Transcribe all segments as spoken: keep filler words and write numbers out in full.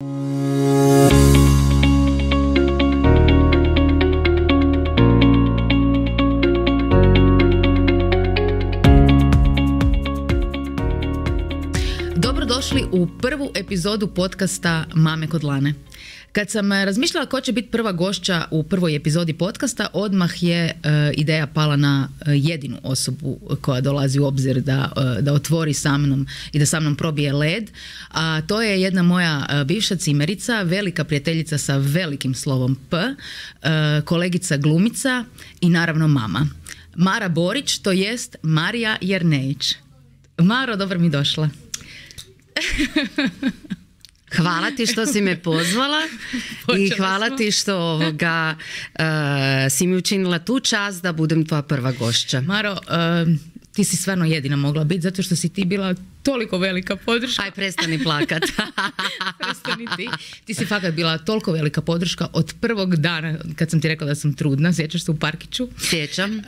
Dobrodošli u prvu epizodu podcasta Mame kod Lane. Kad sam razmišljala ko će biti prva gošća u prvoj epizodi podcasta, odmah je uh, ideja pala na uh, jedinu osobu koja dolazi u obzir da, uh, da otvori sa mnom i da sa mnom probije led. A to je jedna moja uh, bivša cimerica, velika prijateljica sa velikim slovom P, uh, kolegica glumica i naravno mama. Mara Borić, to jest Marija Jernejić. Maro, dobro mi došla. Hvala ti što si me pozvala i hvala smo. ti što ovoga, uh, si mi učinila tu čast da budem tvoja prva gošća. Maro, uh, ti si stvarno jedina mogla biti zato što si ti bila toliko velika podrška. Aj, prestani plakat. Prestani ti. Ti si fakat bila toliko velika podrška od prvog dana kad sam ti rekla da sam trudna. Sjećaš se u parkiću? Sjećam.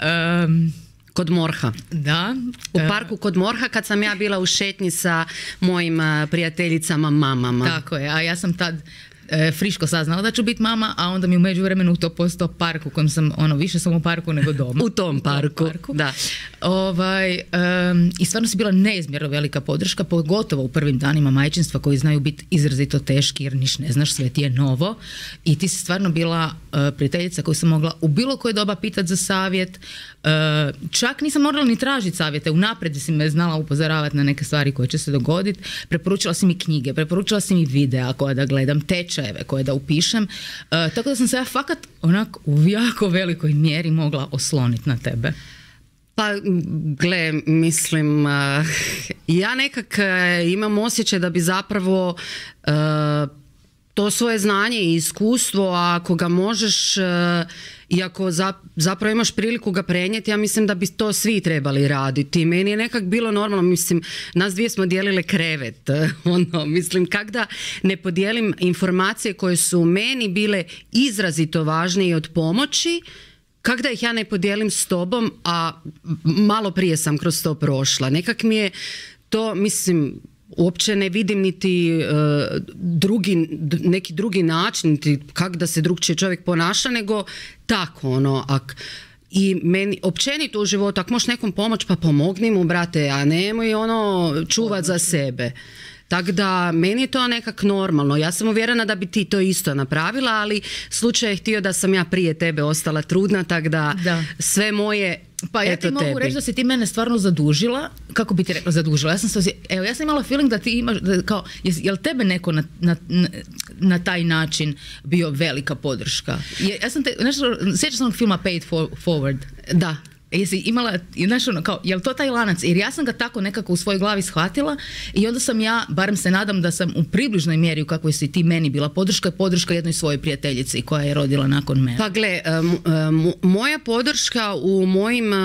Um, Kod Morha. Da. U parku kod Morha kad sam ja bila u šetnji sa mojim prijateljicama mamama. Tako je, a ja sam tad e, friško saznala da ću biti mama, a onda mi u međuvremenu to postao park u kojem sam, ono, više sam u parku nego doma. U tom parku, parku. Da. Ovaj, um, I stvarno si bila neizmjerno velika podrška, pogotovo u prvim danima majčinstva koji znaju biti izrazito teški jer niš ne znaš, sve ti je novo. I ti si stvarno bila uh, prijateljica koju sam mogla u bilo koje doba pitati za savjet. Uh, čak nisam morala ni tražiti savjete, unaprijed si me znala upozoravati na neke stvari koje će se dogoditi. Preporučila si mi knjige, preporučila si mi videa koje da gledam, tečajeve koje da upišem. Uh, tako da sam se ja fakat onako u jako velikoj mjeri mogla osloniti na tebe. Pa, gle, mislim, uh, ja nekak uh, imam osjećaj da bi zapravo uh, to svoje znanje i iskustvo, ako ga možeš uh, i ako za, zapravo imaš priliku ga prenijeti, ja mislim da bi to svi trebali raditi. Meni je nekak bilo normalno, mislim, nas dvije smo dijelile krevet, ono, mislim, kak da ne podijelim informacije koje su meni bile izrazito važne i od pomoći, kak da ih ja ne podijelim s tobom, a malo prije sam kroz to prošla. Nekak mi je to, mislim, uopće ne vidim niti uh, drugi, neki drugi način, niti kak da se drugčije čovjek ponaša, nego tako, ono, ak, i meni, općenito u životu, ako možeš nekom pomoć, pa pomogni mu, brate, a nemoj ono čuvat za sebe. Tako da, meni je to nekak normalno. Ja sam uvjerena da bi ti to isto napravila, ali slučaj je htio da sam ja prije tebe ostala trudna, tako da, da sve moje... Pa ja eto ti mogu tebi. reći da si ti mene stvarno zadužila. Kako bi ti rekla zadužila? Ja sam, se, evo, ja sam imala feeling da ti imaš, da, kao, je li tebe neko na, na, na taj način bio velika podrška? Je, ja sam te, nešto, sjećam se onog filma Pay It Forward? Da. Jesi imala, znaš ono, kao, je li to taj lanac? Jer ja sam ga tako nekako u svojoj glavi shvatila i onda sam ja, barem se nadam da sam u približnoj mjeri u kakvoj si ti meni bila podrška, podrška jednoj svojoj prijateljici koja je rodila nakon mene. Pa gle, um, um, moja podrška u mojim... Uh,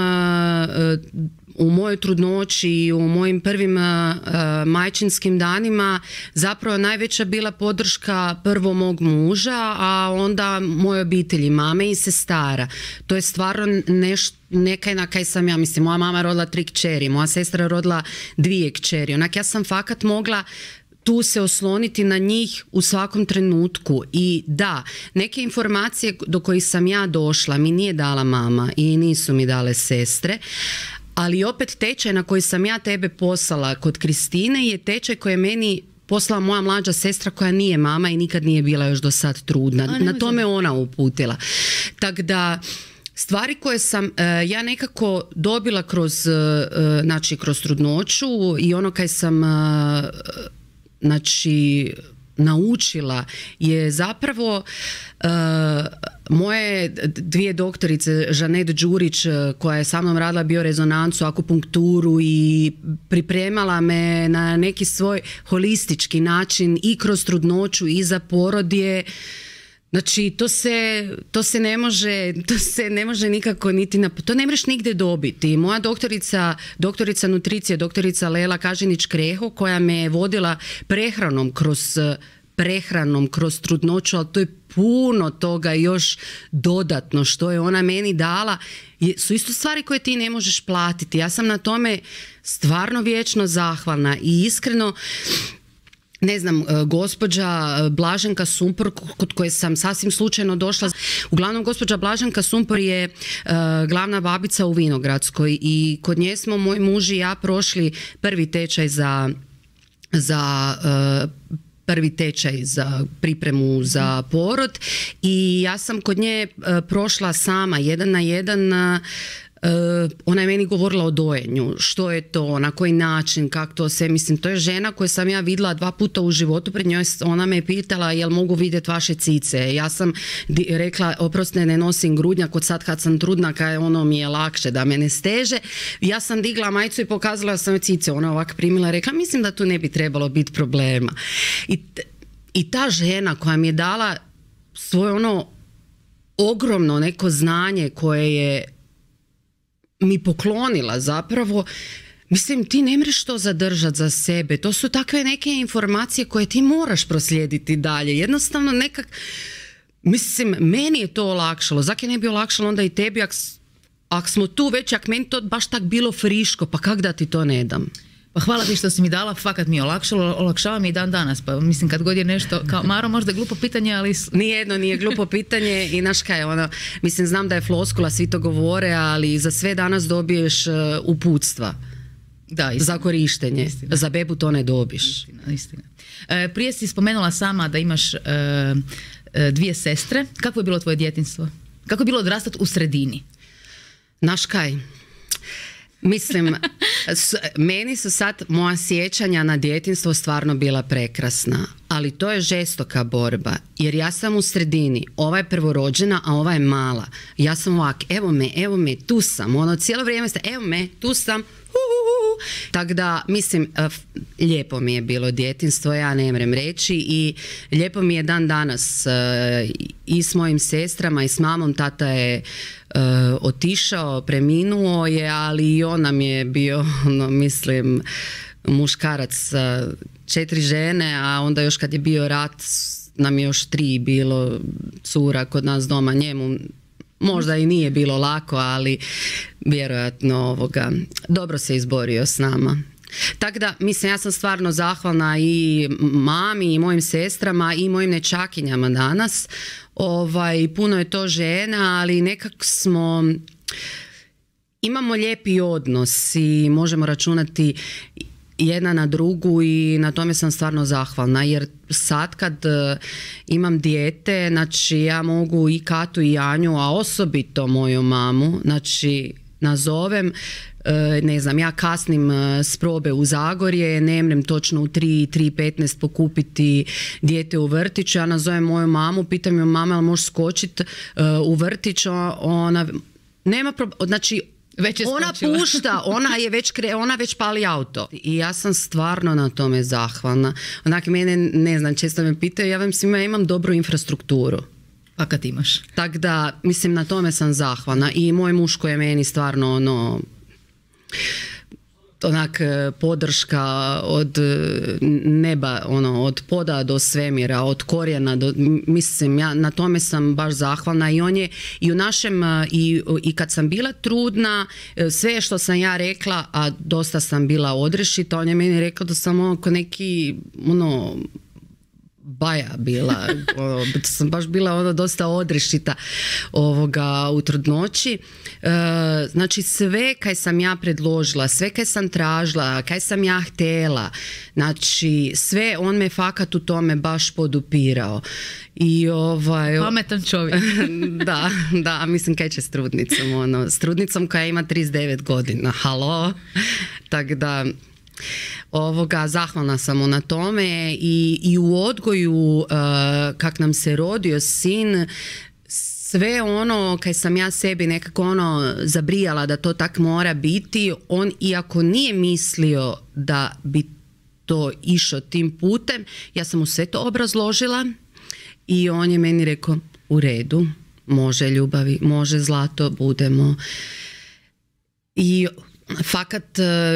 u mojoj trudnoći i u mojim prvim uh, majčinskim danima zapravo najveća bila podrška prvo mog muža, a onda moje obitelji, mame i sestara. To je stvarno nešto, nekaj na kaj sam ja, mislim, moja mama rodila tri kćeri, moja sestra rodila dvije kćeri. Onak ja sam fakat mogla tu se osloniti na njih u svakom trenutku. I da, neke informacije do kojih sam ja došla mi nije dala mama i nisu mi dale sestre, ali opet tečaj na koji sam ja tebe poslala kod Kristine je tečaj koji je meni poslala moja mlađa sestra koja nije mama i nikad nije bila još do sad trudna. Na to me ona uputila. Tako da stvari koje sam uh, ja nekako dobila kroz, uh, znači, kroz trudnoću i ono kaj sam uh, znači naučila je zapravo uh, moje dvije doktorice, Žanet Đurić koja je sa mnom radila biorezonancu, akupunkturu i pripremala me na neki svoj holistički način i kroz trudnoću i za porod je, znači to se, to se ne može, to se ne može nikako niti na, to ne možeš nigdje dobiti. Moja doktorica, doktorica nutricije, doktorica Lela Kažinić-Kreho koja me je vodila prehranom kroz prehranom kroz trudnoću, ali to je puno toga još dodatno što je ona meni dala, su isto stvari koje ti ne možeš platiti. Ja sam na tome stvarno vječno zahvalna i iskreno ne znam, gospođa Blaženka Sumpor kod koje sam sasvim slučajno došla. Uglavnom, gospođa Blaženka Sumpor je uh, glavna babica u Vinogradskoj i kod nje smo moj muž i ja prošli prvi tečaj za, za uh, prvi tečaj za pripremu za porod i ja sam kod nje uh, prošla sama jedan na jedan. Uh, Uh, ona je meni govorila o dojenju, što je to, na koji način, kako to sve, mislim, to je žena koju sam ja vidjela dva puta u životu, pred njoj ona me je pitala jel mogu vidjeti vaše cice, ja sam di, rekla oprosti ne nosim grudnjak od sad kad sam trudna, kaj ono mi je lakše da me ne steže, ja sam digla majicu i pokazala sam cice, ona ovak primila i rekla mislim da tu ne bi trebalo biti problema i, i ta žena koja mi je dala svoje ono ogromno neko znanje koje je mi poklonila zapravo, mislim ti ne mreš to zadržati za sebe, to su takve neke informacije koje ti moraš proslijediti dalje, jednostavno nekak, mislim meni je to olakšalo, zaki ne bi olakšalo onda i tebi, ak, ak smo tu već, ak meni to baš tak bilo friško, pa kak da ti to ne dam? Pa hvala ti što si mi dala, fakat mi je olakšalo, olakšava mi i dan danas, pa mislim kad god je nešto, kao Maro možda je glupo pitanje, ali... Nijedno nije glupo pitanje i znaš kaj, ono, mislim znam da je floskula, svi to govore, ali za sve danas dobiješ uh, uputstva. Da, istina. Za korištenje, istina. Za bebu to ne dobiš. Istina, istina. E, prije si spomenula sama da imaš e, e, dvije sestre, kako je bilo tvoje djetinjstvo? Kako je bilo odrastati u sredini? Znaš kaj? Mislim, s, meni su sad moja sjećanja na djetinjstvo stvarno bila prekrasna, ali to je žestoka borba, jer ja sam u sredini, ova je prvorođena, a ova je mala. Ja sam ovak, evo me, evo me, tu sam, ono cijelo vrijeme ste, evo me, tu sam, tako da, mislim, lijepo mi je bilo djetinjstvo, ja ne mrem reći i lijepo mi je dan danas i s mojim sestrama i s mamom, tata je uh, otišao, preminuo je, ali i on nam je bio, ono, mislim, muškarac sa četiri žene, a onda još kad je bio rat nam je još tri bilo cura kod nas doma, njemu možda i nije bilo lako, ali vjerojatno ovoga, dobro se izborio s nama. Tako da, mislim, ja sam stvarno zahvalna i mami i mojim sestrama i mojim nečakinjama danas. Ovaj, puno je to žena, ali nekako smo, imamo lijepi odnos i možemo računati jedna na drugu i na tome sam stvarno zahvalna, jer sad kad uh, imam dijete, znači ja mogu i Katu i Anju, a osobito moju mamu, znači nazovem, uh, ne znam, ja kasnim uh, s probe u Zagorje, ne mrem točno u tri, tri petnaest pokupiti dijete u vrtiću, ja nazovem moju mamu, pitam ju mama, ali možeš skočiti uh, u vrtić, ona nema problema, znači ona pušta, ona je već kre, ona već pali auto i ja sam stvarno na tome zahvalna. Onak mene, ne znam, često me pitaju, ja vam svima imam dobru infrastrukturu. Pa kad imaš? Tako da, mislim, na tome sam zahvalna i moj muž koji je meni stvarno ono, onak podrška od neba, ono, od poda do svemira, od korijena do, mislim, ja na tome sam baš zahvalna i on je i u našem i, i kad sam bila trudna, sve što sam ja rekla, a dosta sam bila odrešita, on je meni rekao da sam oko neki ono baja bila, ono, sam baš bila ono dosta odrešita ovoga u trudnoći. E, znači sve kaj sam ja predložila, sve kaj sam tražila, kaj sam ja htjela, znači sve on me fakat u tome baš podupirao. I ovaj, pametan čovjek. Da, da, mislim kaj će s trudnicom, ono, s trudnicom koja ima trideset devet godina, halo, tako da ovoga, zahvalna sam mu na tome i, i u odgoju uh, kak nam se rodio sin, sve ono kaj sam ja sebi nekako ono zabrijala da to tak mora biti, on iako nije mislio da bi to išao tim putem, ja sam mu sve to obrazložila i on je meni rekao u redu, može ljubavi, može zlato, budemo. I Fakat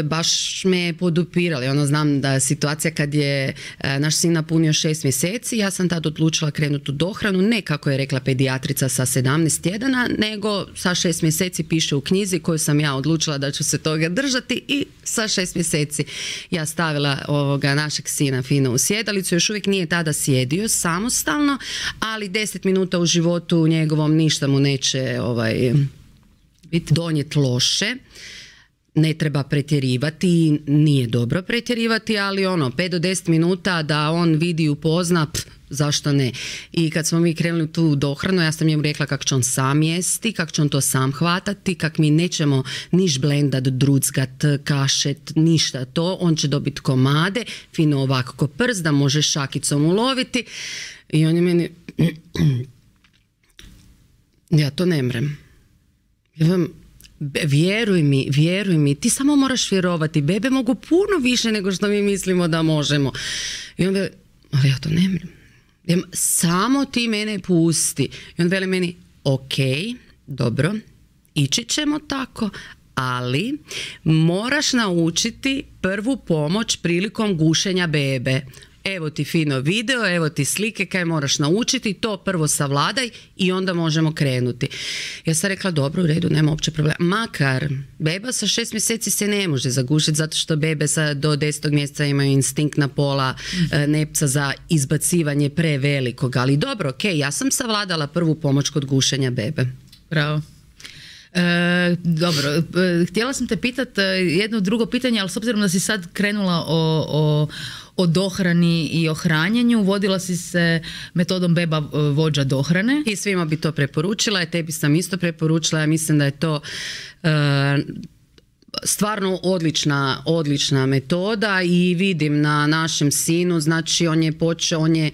baš me je podupirali. Ono, znam da situacija kad je naš sin napunio šest mjeseci, ja sam tad odlučila krenuti u dohranu, ne kako je rekla pedijatrica sa sedamnaest tjedana, nego sa šest mjeseci piše u knjizi koju sam ja odlučila da ću se toga držati i sa šest mjeseci ja stavila ovoga našeg sina fino u sjedalicu. Još uvijek nije tada sjedio samostalno, ali deset minuta u životu njegovom ništa mu neće ovaj, biti donijeti loše. Ne treba pretjerivati, nije dobro pretjerivati, ali ono, pet do deset minuta da on vidi i upozna, pff, zašto ne. I kad smo mi krenuli tu dohranu, ja sam njemu rekla kako će on sam jesti, kako će on to sam hvatati, kak mi nećemo niš blendat, druckat, kašet, ništa to. On će dobiti komade, fino ovako ko prst, da može šakicom uloviti. I on je meni, ja to ne mrem. Ja vam, vjeruj mi, vjeruj mi, ti samo moraš vjerovati, bebe mogu puno više nego što mi mislimo da možemo. I on veli, ali ja to ne mrem. Samo ti mene pusti. I on veli meni, ok, dobro, ići ćemo tako, ali moraš naučiti prvu pomoć prilikom gušenja bebe. Evo ti fino video, evo ti slike kaj moraš naučiti, to prvo savladaj i onda možemo krenuti. Ja sam rekla, dobro, u redu, nema uopće problema. Makar beba sa šest mjeseci se ne može zagušiti zato što bebe sa do desetog mjeseca imaju instinktna pola mm-hmm. nepca za izbacivanje prevelikog. Ali dobro, ok, ja sam savladala prvu pomoć kod gušenja bebe. Bravo. E, dobro, e, htjela sam te pitati jedno drugo pitanje, ali s obzirom da si sad krenula o, o, o dohrani i o hranjenju, vodila si se metodom beba vođa dohrane. I svima bi to preporučila, i tebi sam isto preporučila, ja mislim da je to e, stvarno odlična, odlična metoda i vidim na našem sinu, znači on je počeo, on je e,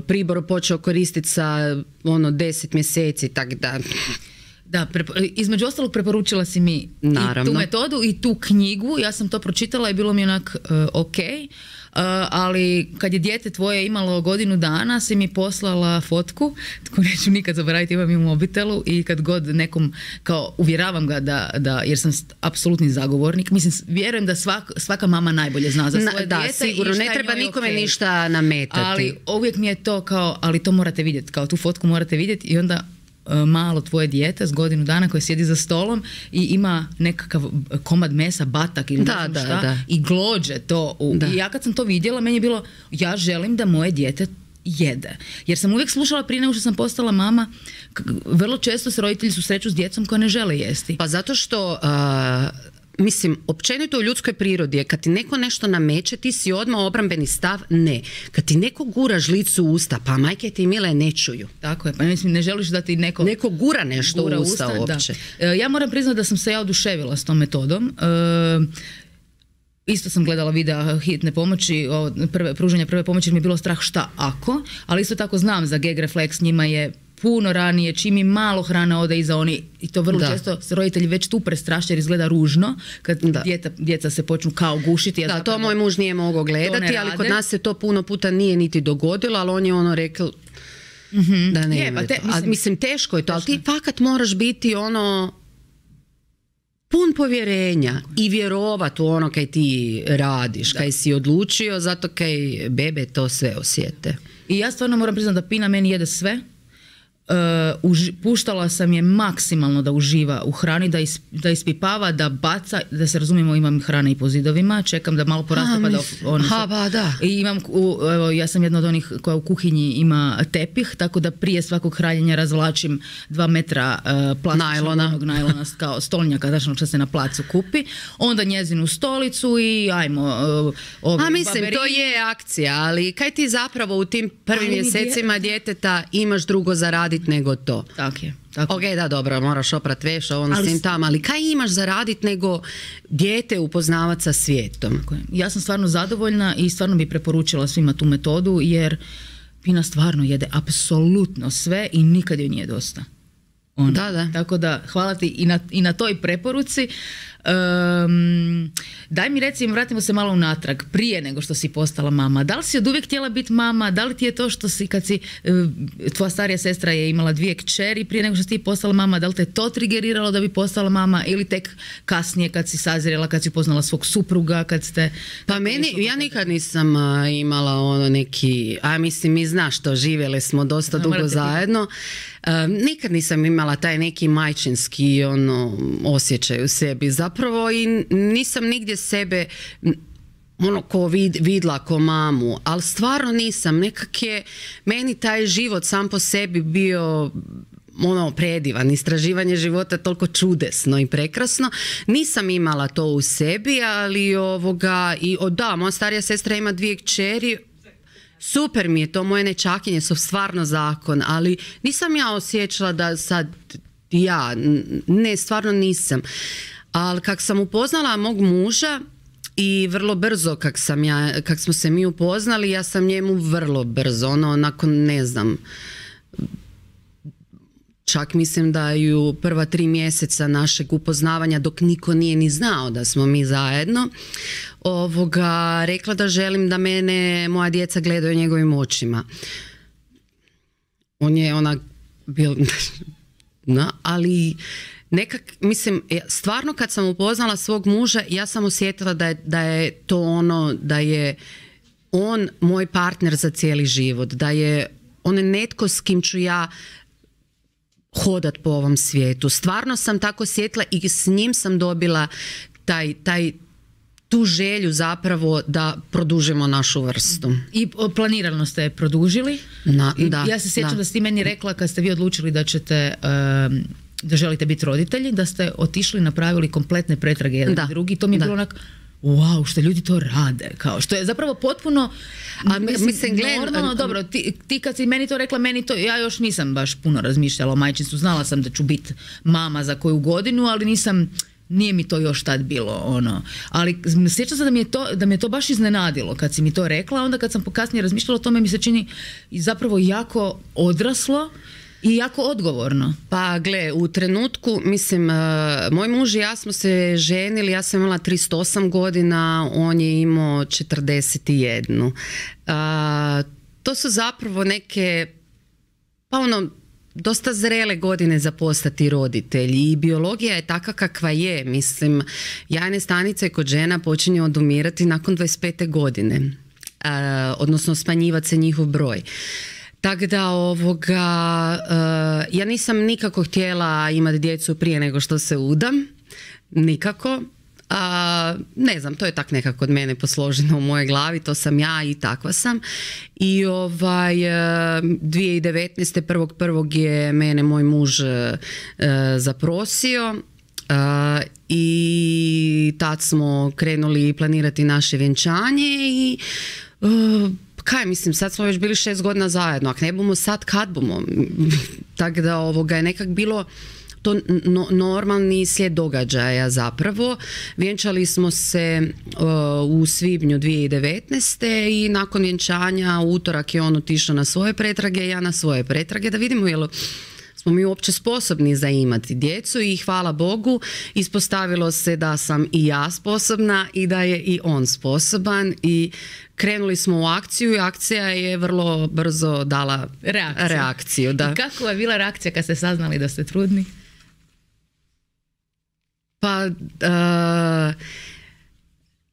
pribor počeo koristiti sa ono deset mjeseci, tak da... Da, između ostalog preporučila si mi Naravno. i tu metodu i tu knjigu, ja sam to pročitala i bilo mi onak uh, ok, uh, ali kad je dijete tvoje imalo godinu dana si mi poslala fotku, tako neću nikad zaboraviti, imam i u mobitelu i kad god nekom, kao uvjeravam ga da, da jer sam apsolutni zagovornik, mislim, vjerujem da svak, svaka mama najbolje zna za svoje da, dijete. Sigurno, ne treba nikome okay. ništa nametati. Ali uvijek mi je to kao, ali to morate vidjeti, kao tu fotku morate vidjeti i onda malo tvoje dijete s godinu dana koje sjedi za stolom i ima nekakav komad mesa, batak ili da, ne znam da, šta da. i glođe to. U, I ja kad sam to vidjela, meni je bilo, ja želim da moje dijete jede. Jer sam uvijek slušala prije nego što sam postala mama, vrlo često se roditelji susreću s djecom koja ne žele jesti. Pa zato što... Uh... Mislim, općenito u ljudskoj prirodi je kad ti neko nešto nameće, ti si odmah obrambeni stav, ne. Kad ti neko gura žlicu u usta, pa majke ti mile ne čuju. Tako je, pa mislim, ne želiš da ti neko... Neko gura nešto gura u usta, usta uopće. Da. Ja moram priznati da sam se ja oduševila s tom metodom. E, isto sam gledala videa hitne pomoći, prve, pružanja prve pomoći, mi je bilo strah šta ako, ali isto tako znam za gag refleks, njima je puno ranije, čim im malo hrana ode iza oni, i to vrlo da. često se roditelji već tu prestraše jer izgleda ružno kad djeca, djeca se počnu kao gušiti. Ja da, to moj muž nije mogao gledati, ali kod nas se to puno puta nije niti dogodilo, ali on je ono rekao mm-hmm. da ne. Je, pa te, mislim, A, mislim, teško je to, teško. Ali ti fakat moraš biti ono pun povjerenja i vjerovat u ono kaj ti radiš, da. Kaj si odlučio, zato kaj bebe to sve osjete. I ja stvarno moram priznati da Pina meni jede sve. Uh, uži, puštala sam je maksimalno da uživa u hrani, da, is, da ispipava, da baca, da se razumijemo, imam hrane i po zidovima, čekam da malo poraste pa da on ha, ba, da. I imam, u, evo, ja sam jedna od onih koja u kuhinji ima tepih, tako da prije svakog hranjenja razvlačim dva metra uh, plastičnog najlona kao stolnjaka, znači što se na placu kupi, onda njezinu stolicu i ajmo uh, ovi A mislim, baberi. To je akcija, ali kaj ti zapravo u tim prvim ali mjesecima dje... djeteta imaš drugo zaraditi nego to. Tako je. Tako. Ok, da, dobro, moraš oprat veš, ovo na svim tam, ali kaj imaš zaraditi nego dijete upoznavati sa svijetom? Tako je. Ja sam stvarno zadovoljna i stvarno bi preporučila svima tu metodu jer Pina stvarno jede apsolutno sve i nikad joj nije dosta. Ono. Da, da. Tako da hvala ti i na, i na toj preporuci. Um, daj mi recimo, vratimo se malo unatrag, prije nego što si postala mama. Da li si od uvijek htjela biti mama? Da li ti je to što si, kad si, tvoja starija sestra je imala dvije kćeri prije nego što si ti postala mama, da li te to trigeriralo da bi postala mama ili tek kasnije kad si sazrela, kad si poznala svog supruga, kad ste... Pa meni, ja nikad nisam a, imala ono neki, a mislim mi znaš to, živjeli smo dosta no, dugo zajedno. A, nikad nisam imala taj neki majčinski ono, osjećaj u sebi zapravo i nisam nigdje sebe ono ko vid, vidla ko mamu, ali stvarno nisam. Nekak je meni taj život sam po sebi bio ono predivan, istraživanje života toliko čudesno i prekrasno. Nisam imala to u sebi, ali ovoga, i o, da, moja starija sestra ima dvije kćeri, super mi je to, moje nečakinje su stvarno zakon, ali nisam ja osjećala da sad ja, ne, stvarno nisam. Ali kak sam upoznala mog muža i vrlo brzo kak, sam ja, kak smo se mi upoznali, ja sam njemu vrlo brzo, ono, nakon ne znam, čak mislim da ju prva tri mjeseca našeg upoznavanja dok niko nije ni znao da smo mi zajedno, ovoga, rekla da želim da mene moja djeca gledaju njegovim očima. On je ona bil, no, ali nekak, mislim, stvarno kad sam upoznala svog muža, ja sam osjetila da je, da je to ono, da je on moj partner za cijeli život, da je on netko s kim ću ja hodat po ovom svijetu. Stvarno sam tako osjetila i s njim sam dobila taj, taj, tu želju zapravo da produžimo našu vrstu. I planirano ste je produžili. Na, da, ja se sjećam da. da ste meni rekla kad ste vi odlučili da ćete... Um, da želite biti roditelji, da ste otišli, napravili kompletne pretrage jedan da. drugi. To mi je da. bilo onak, wow, što ljudi to rade. Kao, što je zapravo potpuno a, mislim, mislim, normalno. Dobro, ti, ti kad si meni to rekla, meni to, ja još nisam baš puno razmišljala o majčinstvu. Znala sam da ću biti mama za koju godinu, ali nisam, nije mi to još tad bilo ono. Ali sjećam se da mi je to, da mi je to baš iznenadilo kad si mi to rekla. Onda kad sam kasnije razmišljala o tome, mi se čini zapravo jako odraslo i jako odgovorno. Pa gle, u trenutku, mislim, uh, moj muž i ja smo se ženili, ja sam imala trideset osam godina, on je imao četrdeset jedan. Uh, to su zapravo neke, pa ono, dosta zrele godine za postati roditelj i biologija je taka kakva je. Mislim, jajne stanice kod žena počinju odumirati nakon dvadeset pete godine, uh, odnosno smanjivati se njihov broj. Tako da ovoga, uh, ja nisam nikako htjela imati djecu prije nego što se udam, nikako. A, ne znam, to je tak nekako od mene posloženo u mojoj glavi, to sam ja i takva sam. I ovaj, dvije tisuće devetnaeste. prvog prvog je mene moj muž uh, zaprosio. Uh, i tad smo krenuli planirati naše vjenčanje i uh, kaj mislim, sad smo već bili šest godina zajedno, ako ne bomo sad, kad bomo? Tako da ovoga je nekak bilo to no, normalni slijed događaja zapravo. Vjenčali smo se uh, u svibnju dvije tisuće devetnaeste. i nakon vjenčanja u utorak je on otišao na svoje pretrage, ja na svoje pretrage, da vidimo jel smo mi uopće sposobni za imati djecu i hvala Bogu ispostavilo se da sam i ja sposobna i da je i on sposoban i krenuli smo u akciju i akcija je vrlo brzo dala reakciju. reakciju da. I kako je bila reakcija kad ste saznali da ste trudni? Pa uh,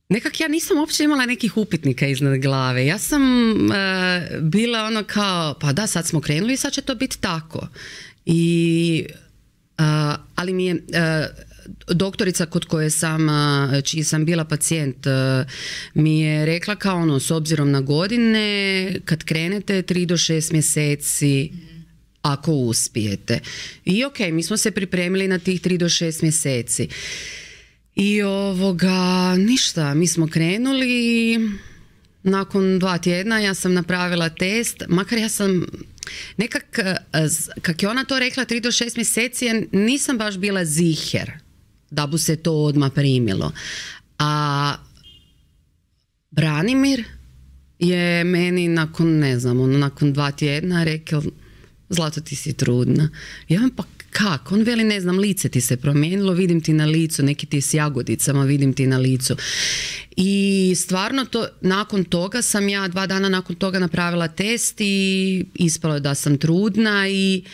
nekak ja nisam uopće imala nekih upitnika iznad glave. Ja sam uh, bila ono kao, pa da, sad smo krenuli i sad će to biti tako. I, uh, ali mi je uh, doktorica kod koje sam, uh, čiji sam bila pacijent, uh, mi je rekla kao ono, s obzirom na godine, kad krenete tri do šest mjeseci, ako uspijete. I ok, mi smo se pripremili na tih tri do šest mjeseci. I ovoga, ništa, mi smo krenuli i nakon dva tjedna ja sam napravila test, makar ja sam nekak, kak je ona to rekla tri do šest mjeseci, ja nisam baš bila ziher da bu se to odmah primilo. A Branimir je meni nakon, ne znam, ono, nakon dva tjedna rekao, Zlato, ti si trudna. Ja vam pa kak? On veli, ne znam, lice ti se promijenilo, vidim ti na licu, neki ti s jagodicama, vidim ti na licu. I stvarno to, nakon toga sam ja dva dana nakon toga napravila test i ispalo je da sam trudna i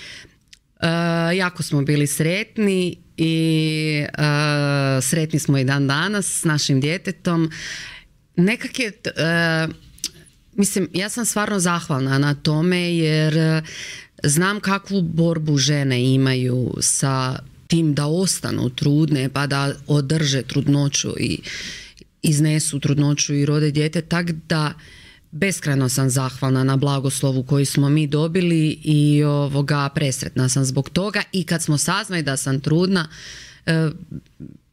uh, jako smo bili sretni i uh, sretni smo i dan danas s našim djetetom. Nekak je, uh, mislim, ja sam stvarno zahvalna na tome jer uh, znam kakvu borbu žene imaju sa tim da ostanu trudne pa da održe trudnoću i iznesu trudnoću i rode dijete, tak da beskrajno sam zahvalna na blagoslovu koji smo mi dobili i ovoga, presretna sam zbog toga. I kad smo saznali da sam trudna, e,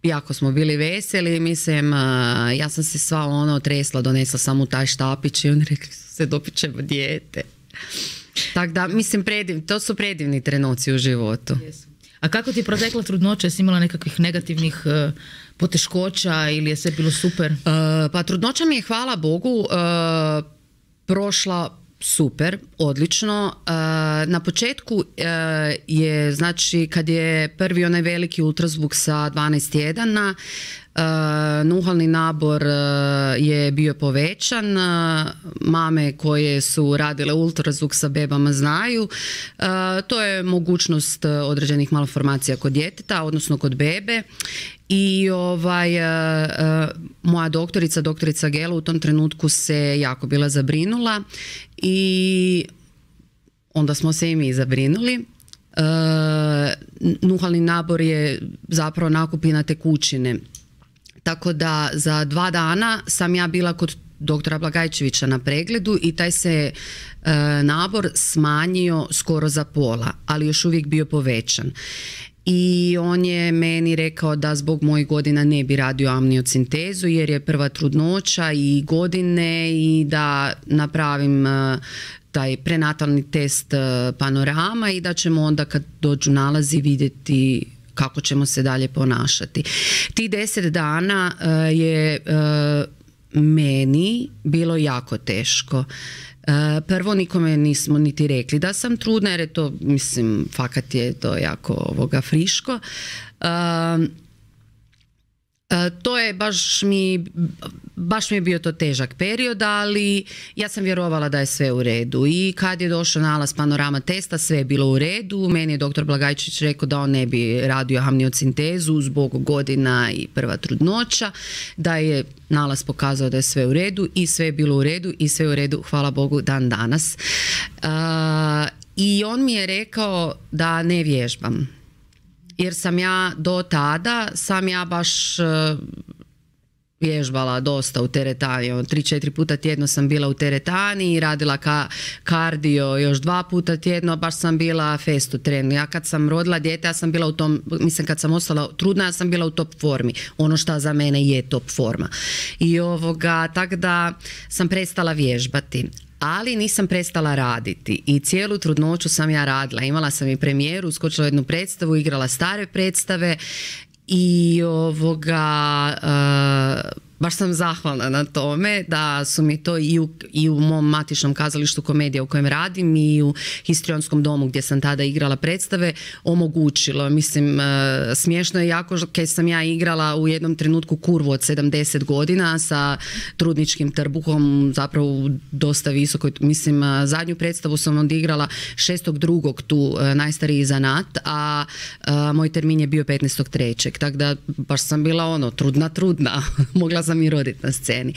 jako smo bili veseli, mislim, a, ja sam se sva ono tresla, donesla sam u taj štapić i oni rekli su se dobit ćemo dijete. Tako da, mislim, prediv, to su predivni trenuci u životu. A kako ti je protekla trudnoća? Jesi imala nekakvih negativnih uh, poteškoća ili je sve bilo super? Uh, pa trudnoća mi je, hvala Bogu, uh, prošla super, odlično. Uh, na početku uh, je, znači, kad je prvi onaj veliki ultrazvuk sa dvanaest tjedana, Uh, nuhalni nabor uh, je bio povećan. Uh, mame koje su radile ultrazvuk sa bebama znaju. Uh, to je mogućnost uh, određenih malformacija kod djeteta, odnosno kod bebe. I ovaj, uh, uh, moja doktorica, doktorica Gelo u tom trenutku se jako bila zabrinula i onda smo se i mi zabrinuli. Uh, nuhalni nabor je zapravo nakupina tekućine. Tako da za dva dana sam ja bila kod doktora Blagajčevića na pregledu i taj se e, nabor smanjio skoro za pola, ali još uvijek bio povećan. I on je meni rekao da zbog mojih godina ne bi radio amniocentezu jer je prva trudnoća i godine i da napravim e, taj prenatalni test e, panorama i da ćemo onda kad dođu nalazi vidjeti kako ćemo se dalje ponašati. Tih deset dana uh, je uh, meni bilo jako teško. Uh, prvo nikome nismo niti rekli da sam trudna jer je to, mislim, fakat je to jako ovoga friško. Uh, Uh, to je baš mi, baš mi je bio to težak period, ali ja sam vjerovala da je sve u redu i kad je došao nalaz panorama testa sve je bilo u redu. Meni je doktor Blagajčić rekao da on ne bi radio amniocentezu zbog godina i prva trudnoća, da je nalaz pokazao da je sve u redu i sve je bilo u redu i sve je u redu, hvala Bogu, dan danas. Uh, I on mi je rekao da ne vježbam. Jer sam ja do tada, sam ja baš uh, vježbala dosta u teretani. Tri, četiri puta tjedno sam bila u teretani i radila ka kardio još dva puta tjedno, baš sam bila fast u trenu. Ja kad sam rodila dijete, ja sam bila u tom, mislim kad sam ostala trudna, ja sam bila u top formi. Ono što za mene je top forma. I ovoga, tak da sam prestala vježbati. Ali nisam prestala raditi i cijelu trudnoću sam ja radila. Imala sam i premijeru, uskočila jednu predstavu, igrala stare predstave i ovoga, uh, baš sam zahvalna na tome da su mi to i u, i u mom matičnom kazalištu Komedija u kojem radim i u Histrionskom domu gdje sam tada igrala predstave omogućilo. Mislim, uh, smiješno je jako kad sam ja igrala u jednom trenutku kurvu od sedamdeset godina sa trudničkim trbuhom, zapravo dosta visoko. Mislim, uh, zadnju predstavu sam odigrala šestog drugog tu, uh, najstariji zanat, a uh, moj termin je bio petnaestog trećeg Tako da baš sam bila ono, trudna, trudna. Mogla sam i roditi na sceni.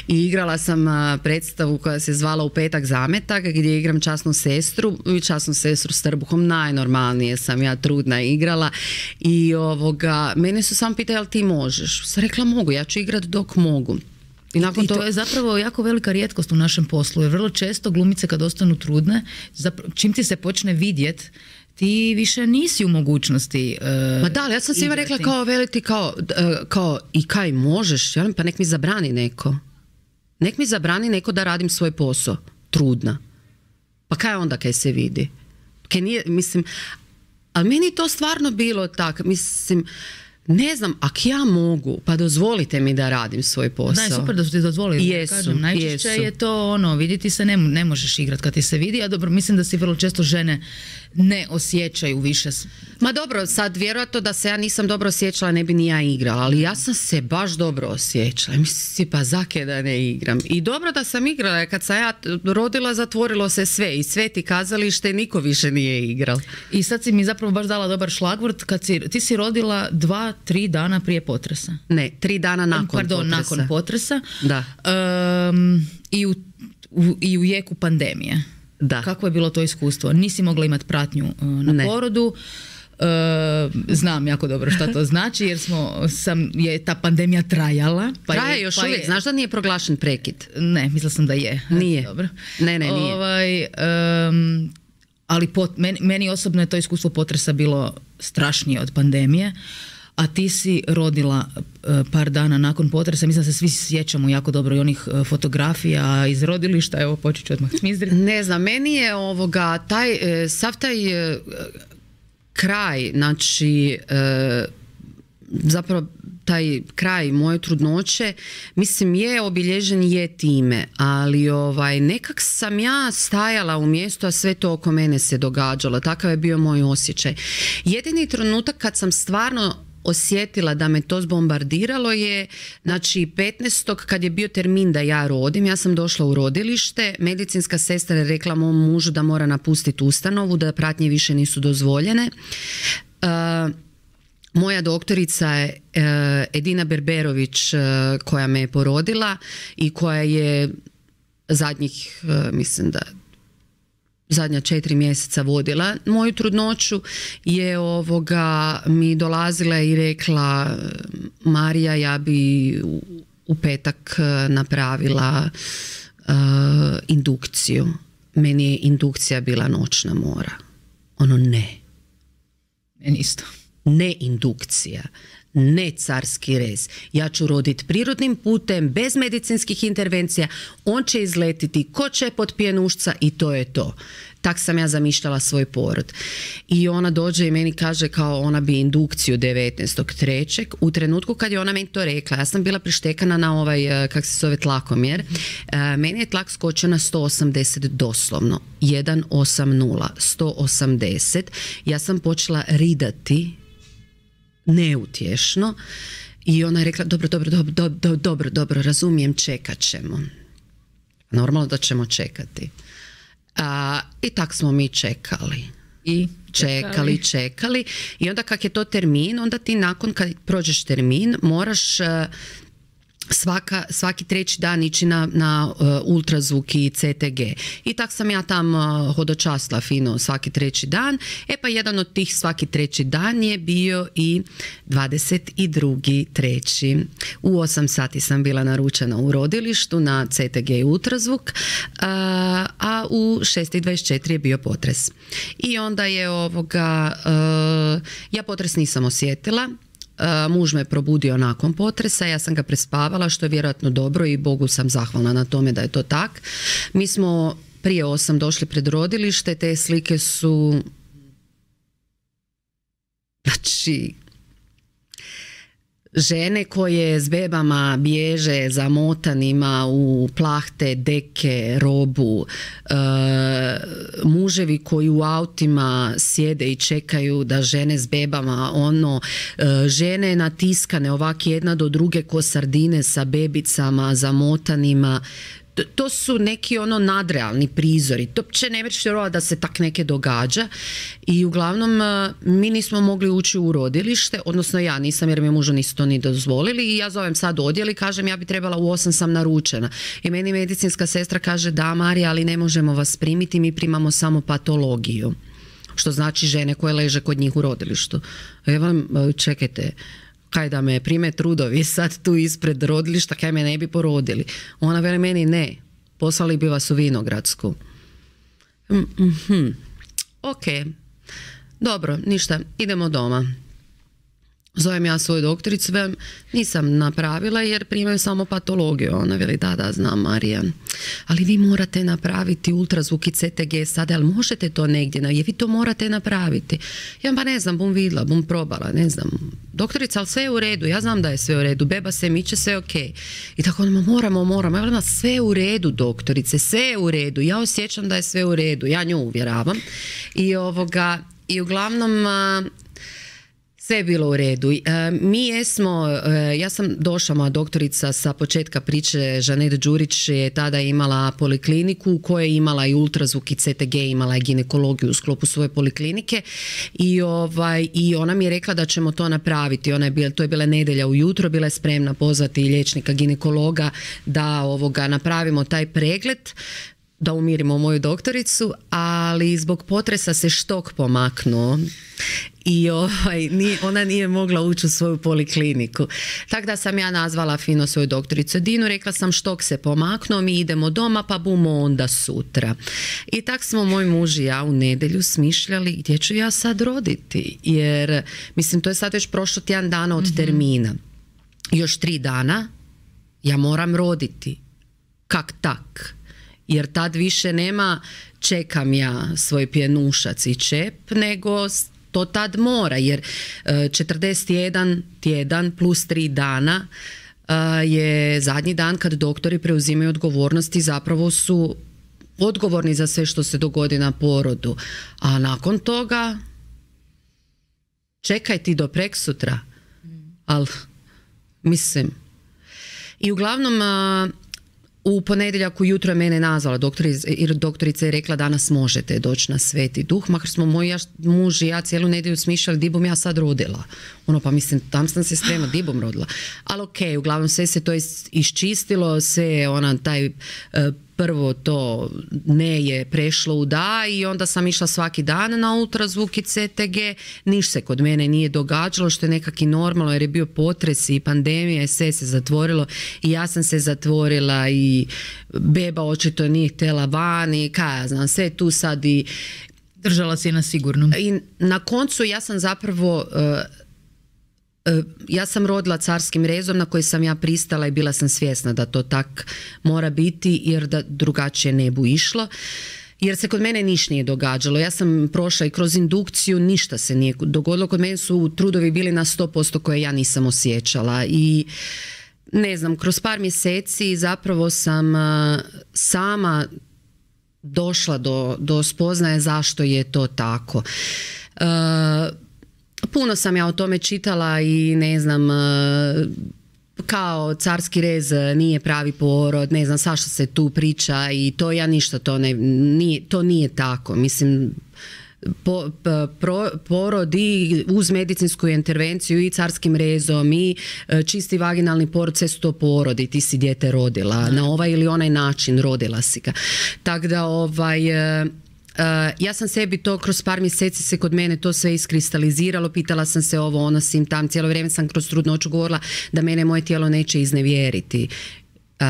I igrala sam predstavu koja se zvala U petak zametak gdje igram časnu sestru i časnu sestru s trbuhom. Najnormalnije sam ja trudna igrala i ovoga, mene su samo pitali jel ti možeš? Sam rekla mogu, ja ću igrat dok mogu. I, nakon I to... to je zapravo jako velika rijetkost u našem poslu jer vrlo često glumice kad ostanu trudne, zapravo, čim ti se počne vidjet ti više nisi u mogućnosti uh, Ma da, ali ja sam svima rekla kao veliti kao, uh, kao i kaj možeš, ja, pa nek mi zabrani neko. Nek mi zabrani neko da radim svoj posao. Trudna. Pa kaj onda kaj se vidi? Kaj nije, mislim, ali meni to stvarno bilo tak, mislim, ne znam, ak ja mogu, pa dozvolite mi da radim svoj posao. Da, super da su ti dozvolili. Jesu, kažem, najčešće jesu. je to ono, vidjeti se ne, ne možeš igrati kad ti se vidi, a dobro, mislim da si vrlo često žene ne osjećaju više. Ma dobro, sad vjerojatno da se ja nisam dobro osjećala ne bi ni ja igrala, ali ja sam se baš dobro osjećala. Mislim si, pa zake da ne igram. I dobro da sam igrala, kad sam ja rodila zatvorilo se sve i sve ti kazalište, niko više nije igral. I sad si mi zapravo baš dala dobar šlagvort, kad si, ti si rodila dva, tri dana prije potresa. Ne, tri dana nakon Pardon, potresa. nakon potresa. Da. Um, i, u, u, I u jeku pandemije. Da. Kako je bilo to iskustvo? Nisi mogla imati pratnju uh, na ne. porodu. Uh, znam jako dobro šta to znači jer smo, sam, je ta pandemija trajala. Pa Traje je, još pa uvijek, je, znaš da nije proglašen prekid? Ne, mislila sam da je. Nije. Dobro. Ne, ne, nije. Ovaj, um, ali pot, meni, meni osobno je to iskustvo potresa bilo strašnije od pandemije. A ti si rodila uh, par dana nakon potresa, mislim da se svi sjećamo jako dobro i onih uh, fotografija iz rodilišta, evo počet ću odmah smizriti. Ne znam, meni je ovoga, taj, e, sav taj e, kraj, znači e, zapravo taj kraj moje trudnoće, mislim je obilježen je time, ali ovaj, nekak sam ja stajala u mjestu, a sve to oko mene se događalo, takav je bio moj osjećaj. Jedini trenutak kad sam stvarno osjetila da me to zbombardiralo je, znači petnaestog kad je bio termin da ja rodim, ja sam došla u rodilište, medicinska sestra je rekla mom mužu da mora napustiti ustanovu, da pratnje više nisu dozvoljene. Uh, moja doktorica je uh, Edina Berberović uh, koja me je porodila i koja je zadnjih, uh, mislim da zadnja četiri mjeseca vodila moju trudnoću, je ovoga mi dolazila i rekla Marija, ja bi u, u petak napravila uh, indukciju. Meni je indukcija bila noćna mora. Ono ne. Meni isto. Ne indukcija. Ne carski rez. Ja ću roditi prirodnim putem, bez medicinskih intervencija, on će izletiti ko čep od pjenušca i to je to. Tak sam ja zamišljala svoj porod. I ona dođe i meni kaže kao ona bi indukciju devetnaestog trećeg U trenutku kad je ona meni to rekla, ja sam bila prištekana na ovaj, kak se zove, tlakomjer. Meni je tlak skočio na sto osamdeset doslovno. jedan osamdeset, sto osamdeset. Ja sam počela ridati neutješno i ona je rekla dobro, dobro, dobro, dobro, dobro, dobro, razumijem, čekat ćemo. Normalno da ćemo čekati. A, i tak smo mi čekali. I čekali, čekali. I onda kak je to termin, onda ti nakon kad prođeš termin moraš uh, Svaka, svaki treći dan ići na, na uh, ultrazvuk i C T G. I tak sam ja tam uh, hodočasla fino svaki treći dan. E pa jedan od tih svaki treći dan je bio i dvadeset drugi treći U osam sati sam bila naručena u rodilištu na C T G i ultrazvuk, uh, a u šest i dvadeset četiri je bio potres. I onda je ovoga, uh, ja potres nisam osjetila. Uh, muž me probudio nakon potresa, ja sam ga prespavala, što je vjerojatno dobro i Bogu sam zahvalna na tome da je to tak. Mi smo prije osam došli pred rodilište, te slike su, znači, žene koje s bebama bježe zamotanima u plahte, deke, robu, e, muževi koji u autima sjede i čekaju da žene s bebama, ono, e, žene natiskane ovak jedna do druge ko sardine sa bebicama zamotanima. To su neki ono nadrealni prizori. To uopće ne možeš vjerovati da se tak neke događa. I uglavnom mi nismo mogli ući u rodilište, odnosno ja nisam jer mi mužu nisu to ni dozvolili i ja zovem sad odjel i kažem ja bi trebala u osam sam naručena. I meni medicinska sestra kaže da Marija, ali ne možemo vas primiti, mi primamo samo patologiju. Što znači žene koje leže kod njih u rodilištu. Evo, čekajte, kaj da me prime trudovi sad tu ispred rodilišta, kaj me ne bi porodili. Ona veli meni ne, poslali bi vas u Vinogradsku. Mm-hmm. Ok, dobro, ništa, idemo doma. Zovem ja svoju doktoricu, velim, nisam napravila jer primaju samo patologiju. Ona veli, da, da, znam Marija, ali vi morate napraviti ultrazvuk i C T G sada, ali možete to negdje, je vi to morate napraviti. Ja pa ne znam, bum vidla, bum probala, ne znam. Doktorica, ali sve je u redu, ja znam da je sve u redu, beba se miče, sve je ok. I tako ono, moramo, moramo, ja velim, sve je u redu doktorice, sve je u redu, ja osjećam da je sve u redu, ja nju uvjeravam. I ovoga, i uglavnom... Sve je bilo u redu. E, mi jesmo, e, ja sam došla, moja doktorica sa početka priče, Žanet Đurić je tada imala polikliniku u kojoj je imala i ultrazvuk i C T G, imala je ginekologiju u sklopu svoje poliklinike i, ovaj, i ona mi je rekla da ćemo to napraviti. Ona je bila, to je bila nedjelja ujutro, bila je spremna pozvati liječnika ginekologa da ovoga napravimo taj pregled, da umirimo moju doktoricu, ali zbog potresa se štok pomaknuo i ovaj, nije, ona nije mogla ući u svoju polikliniku. Tako da sam ja nazvala fino svoju doktoricu Dinu, rekla sam štok se pomaknuo, mi idemo doma pa bumo onda sutra. I tak smo moj muž i ja u nedjelju smišljali gdje ću ja sad roditi, jer mislim to je sad već prošlo tjedan dana od termina. Još tri dana ja moram roditi. Kak tak? Jer tad više nema čekam ja svoj pjenušac i čep, nego to tad mora, jer četrdeset jedan tjedan plus tri dana je zadnji dan kad doktori preuzimaju odgovornosti, zapravo su odgovorni za sve što se dogodi na porodu. A nakon toga čekaj ti do preksutra. Ali mislim. I uglavnom u ponedjeljak ujutro je mene nazvala doktorica, doktorica je rekla danas možete doći na Sveti Duh, makar smo moj ja, muž i ja cijelu nedjelju smišljali di bom ja sad rodila. Ono pa mislim tam sam se sprema di bom rodila. Ali ok, uglavnom sve se to iščistilo, sve ona taj prvo to ne je prešlo u da i onda sam išla svaki dan na ultrazvuk i C T G, niš se kod mene nije događalo što je nekak i normalno jer je bio potres i pandemija i sve se zatvorilo i ja sam se zatvorila i beba očito nije htjela van i kaj ja znam, sve tu sad i držala si je na sigurnom. I na koncu ja sam zapravo uh, ja sam rodila carskim rezom na koji sam ja pristala i bila sam svjesna da to tak mora biti jer da drugačije ne bu išlo. Jer se kod mene niš nije događalo. Ja sam prošla i kroz indukciju, ništa se nije dogodilo. Kod mene su trudovi bili na sto posto koje ja nisam osjećala. I ne znam, kroz par mjeseci zapravo sam sama došla do, do spoznaje zašto je to tako. Uh, Puno sam ja o tome čitala i ne znam, kao carski rez nije pravi porod, ne znam svašta se tu priča i to ja ništa to ne, nije, to nije tako. Mislim, po, pro, porod i uz medicinsku intervenciju i carskim rezom i čisti vaginalni porod, sve su to porodi, ti si dijete rodila, na ovaj ili onaj način rodila si ga. Tako da ovaj... Uh, ja sam sebi to kroz par mjeseci se kod mene to sve iskristaliziralo, pitala sam se ovo, ono, sim, tam, cijelo vrijeme sam kroz trudnoću govorila da mene moje tijelo neće iznevjeriti uh,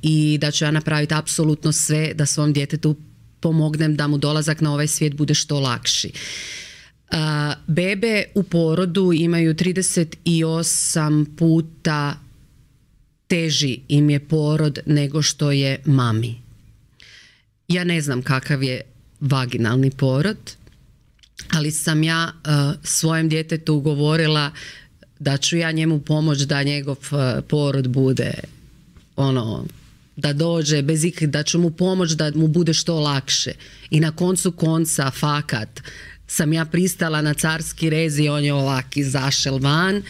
i da ću ja napraviti apsolutno sve da svom djetetu pomognem da mu dolazak na ovaj svijet bude što lakši. Uh, bebe u porodu imaju trideset osam puta teži im je porod nego što je mami. Ja ne znam kakav je vaginalni porod, ali sam ja uh, svojem djetetu govorila da ću ja njemu pomoći da njegov uh, porod bude ono, da dođe bez ikak, da ću mu pomoći da mu bude što lakše. I na koncu konca fakat sam ja pristala na carski rez i on je ovak izašel van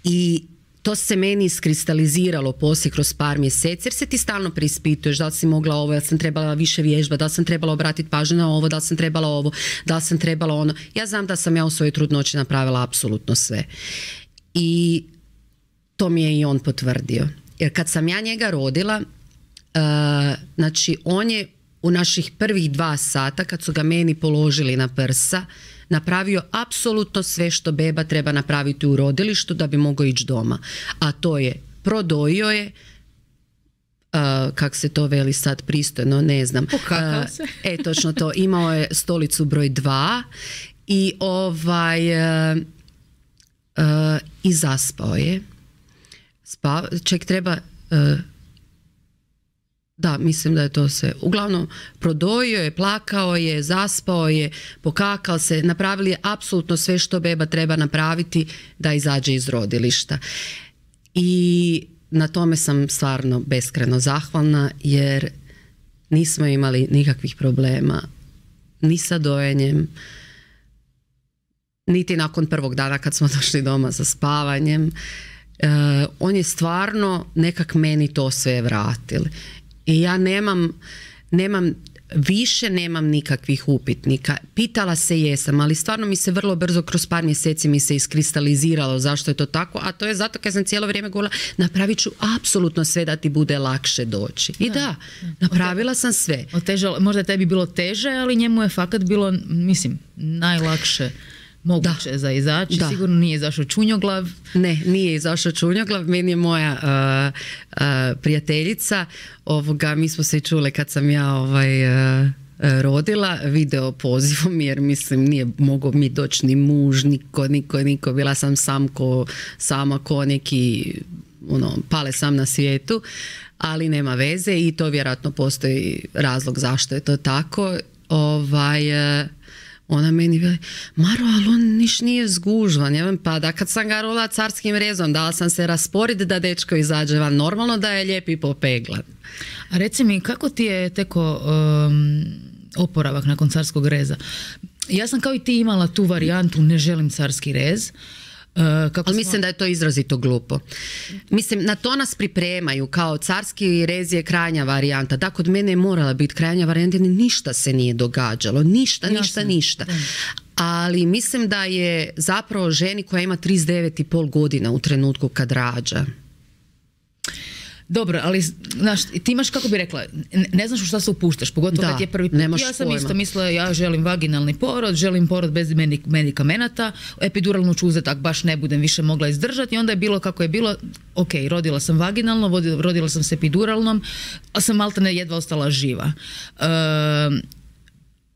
i to se meni iskristaliziralo poslije kroz par mjeseci jer se ti stalno preispituješ da li si mogla ovo, da li sam trebala više vježba, da li sam trebala obratiti pažnju na ovo, da li sam trebala ovo, da li sam trebala ono. Ja znam da sam ja u svojoj trudnoći napravila apsolutno sve. I to mi je i on potvrdio. Jer kad sam ja njega rodila, uh, znači on je u naših prvih dva sata kad su ga meni položili na prsa napravio apsolutno sve što beba treba napraviti u rodilištu da bi mogao ići doma. A to je, prodojio je, uh, kak se to veli sad pristojno, ne znam. Pokakao se. Uh, e, točno to, imao je stolicu broj dva i ovaj... Uh, uh, i zaspao je. Spa, ček treba... Uh, da, mislim da je to sve. Uglavnom, prodojio je, plakao je, zaspao je, pokakao se, napravili je apsolutno sve što beba treba napraviti da izađe iz rodilišta. I na tome sam stvarno beskrajno zahvalna jer nismo imali nikakvih problema ni sa dojenjem, niti nakon prvog dana kad smo došli doma za spavanjem. E, on je stvarno nekak meni to sve vratili. I ja nemam, nemam više nemam nikakvih upitnika. Pitala se jesam, ali stvarno mi se vrlo brzo kroz par mjeseci mi se iskristaliziralo zašto je to tako, a to je zato kad sam cijelo vrijeme govorila napravit ću apsolutno sve da ti bude lakše doći. I da, da napravila sam sve. Otežalo, možda je tebi bilo teže, ali njemu je fakat bilo, mislim, najlakše moguće da. za izaći. Da. Sigurno nije izašao čunjoglav. Ne, nije izašao čunjoglav. Meni je moja uh, uh, prijateljica, ovoga, mi smo se čule kad sam ja ovaj, uh, rodila video pozivom, jer mislim nije mogao mi doći ni muž, niko, niko, niko. Bila sam sam ko, sama ko neki ono, pale sam na svijetu, ali nema veze i to vjerojatno postoji razlog zašto je to tako. Ovaj... Uh, Ona meni veli, Maro, ali on niš nije zgužvan. Ja, pa da kad sam ga rodila carskim rezom, dala sam se raspored da dečko izađe van. Normalno da je lijep i popeglan. A reci mi, kako ti je teko um, oporavak nakon carskog reza? Ja sam kao i ti imala tu varijantu, ne želim carski rez. Uh, kako Ali mislim smo... da je to izrazito glupo. Mislim, na to nas pripremaju kao carski rez je krajnja varijanta. Da, kod mene je morala biti krajnja varijanta, ništa se nije događalo. Ništa, Jasne. ništa, ništa. Da. Ali mislim da je zapravo ženi koja ima trideset devet i pol godina u trenutku kad rađa. Dobro, ali znaš, ti imaš, kako bi rekla, ne, ne znaš u šta se upuštaš, pogotovo kad je prvi put. Ja sam pojma. isto mislila, ja želim vaginalni porod, želim porod bez medikamenata, epiduralnu ću uzeti, ako baš ne budem više mogla izdržati, i onda je bilo kako je bilo, ok, rodila sam vaginalno, rodila sam se epiduralnom, ali sam maltene jedva ostala živa. Uh,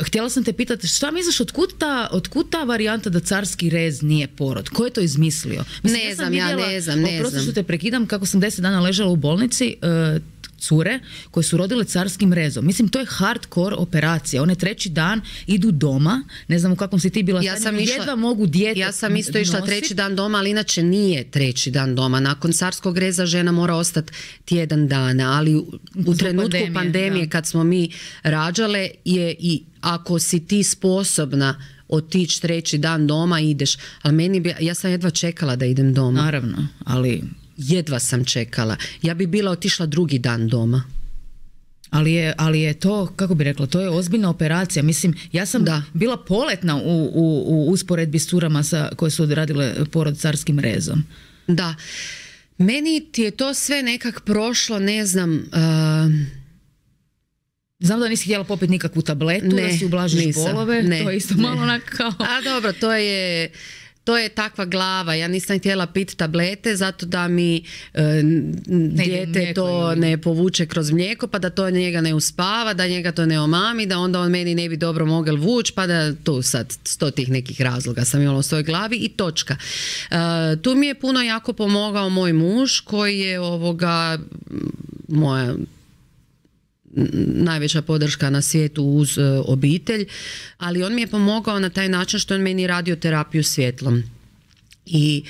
Htjela sam te pitati, šta misliš, otkud ta, otkud ta varijanta da carski rez nije porod? Ko je to izmislio? Mislim, ne ja znam, vidjela, ja ne znam, ne prosto znam. što te prekidam, kako sam deset dana ležala u bolnici, uh, cure koje su rodile carskim rezom. Mislim, to je hardcore operacija. One treći dan idu doma, ne znam u kakvom si ti bila, ja sam išla, jedva mogu dijete Ja sam isto išla nosit. treći dan doma, ali inače nije treći dan doma. Nakon carskog reza žena mora ostati tjedan dana, ali u, u trenutku pandemije, pandemije kad smo mi rađale je i ako si ti sposobna otići treći dan doma, ideš. Ali meni bi, ja sam jedva čekala da idem doma. Naravno, ali... Jedva sam čekala. Ja bi bila otišla drugi dan doma. Ali je, ali je to, kako bi rekla, to je ozbiljna operacija. Mislim, ja sam da. bila poletna u, u, u usporedbi s curama sa, koje su odradile porod carskim rezom. Da. Meni ti je to sve nekak prošlo, ne znam... Uh... Znam da nisi htjela popiti nikakvu tabletu, ne, da si ublažiš nisam, bolove. Ne, to je isto ne. malo onak kao... A dobro, to je... To je takva glava, ja nisam htjela piti tablete zato da mi e, dijete to ili... ne povuče kroz mlijeko, pa da to njega ne uspava, da njega to ne omami, da onda on meni ne bi dobro mogel vući, pa da tu sad sto tih nekih razloga sam imala u svojoj glavi i točka. E, tu mi je puno jako pomogao moj muž koji je ovoga moja najveća podrška na svijetu uz uh, obitelj, ali on mi je pomogao na taj način što on meni radio terapiju svjetlom. I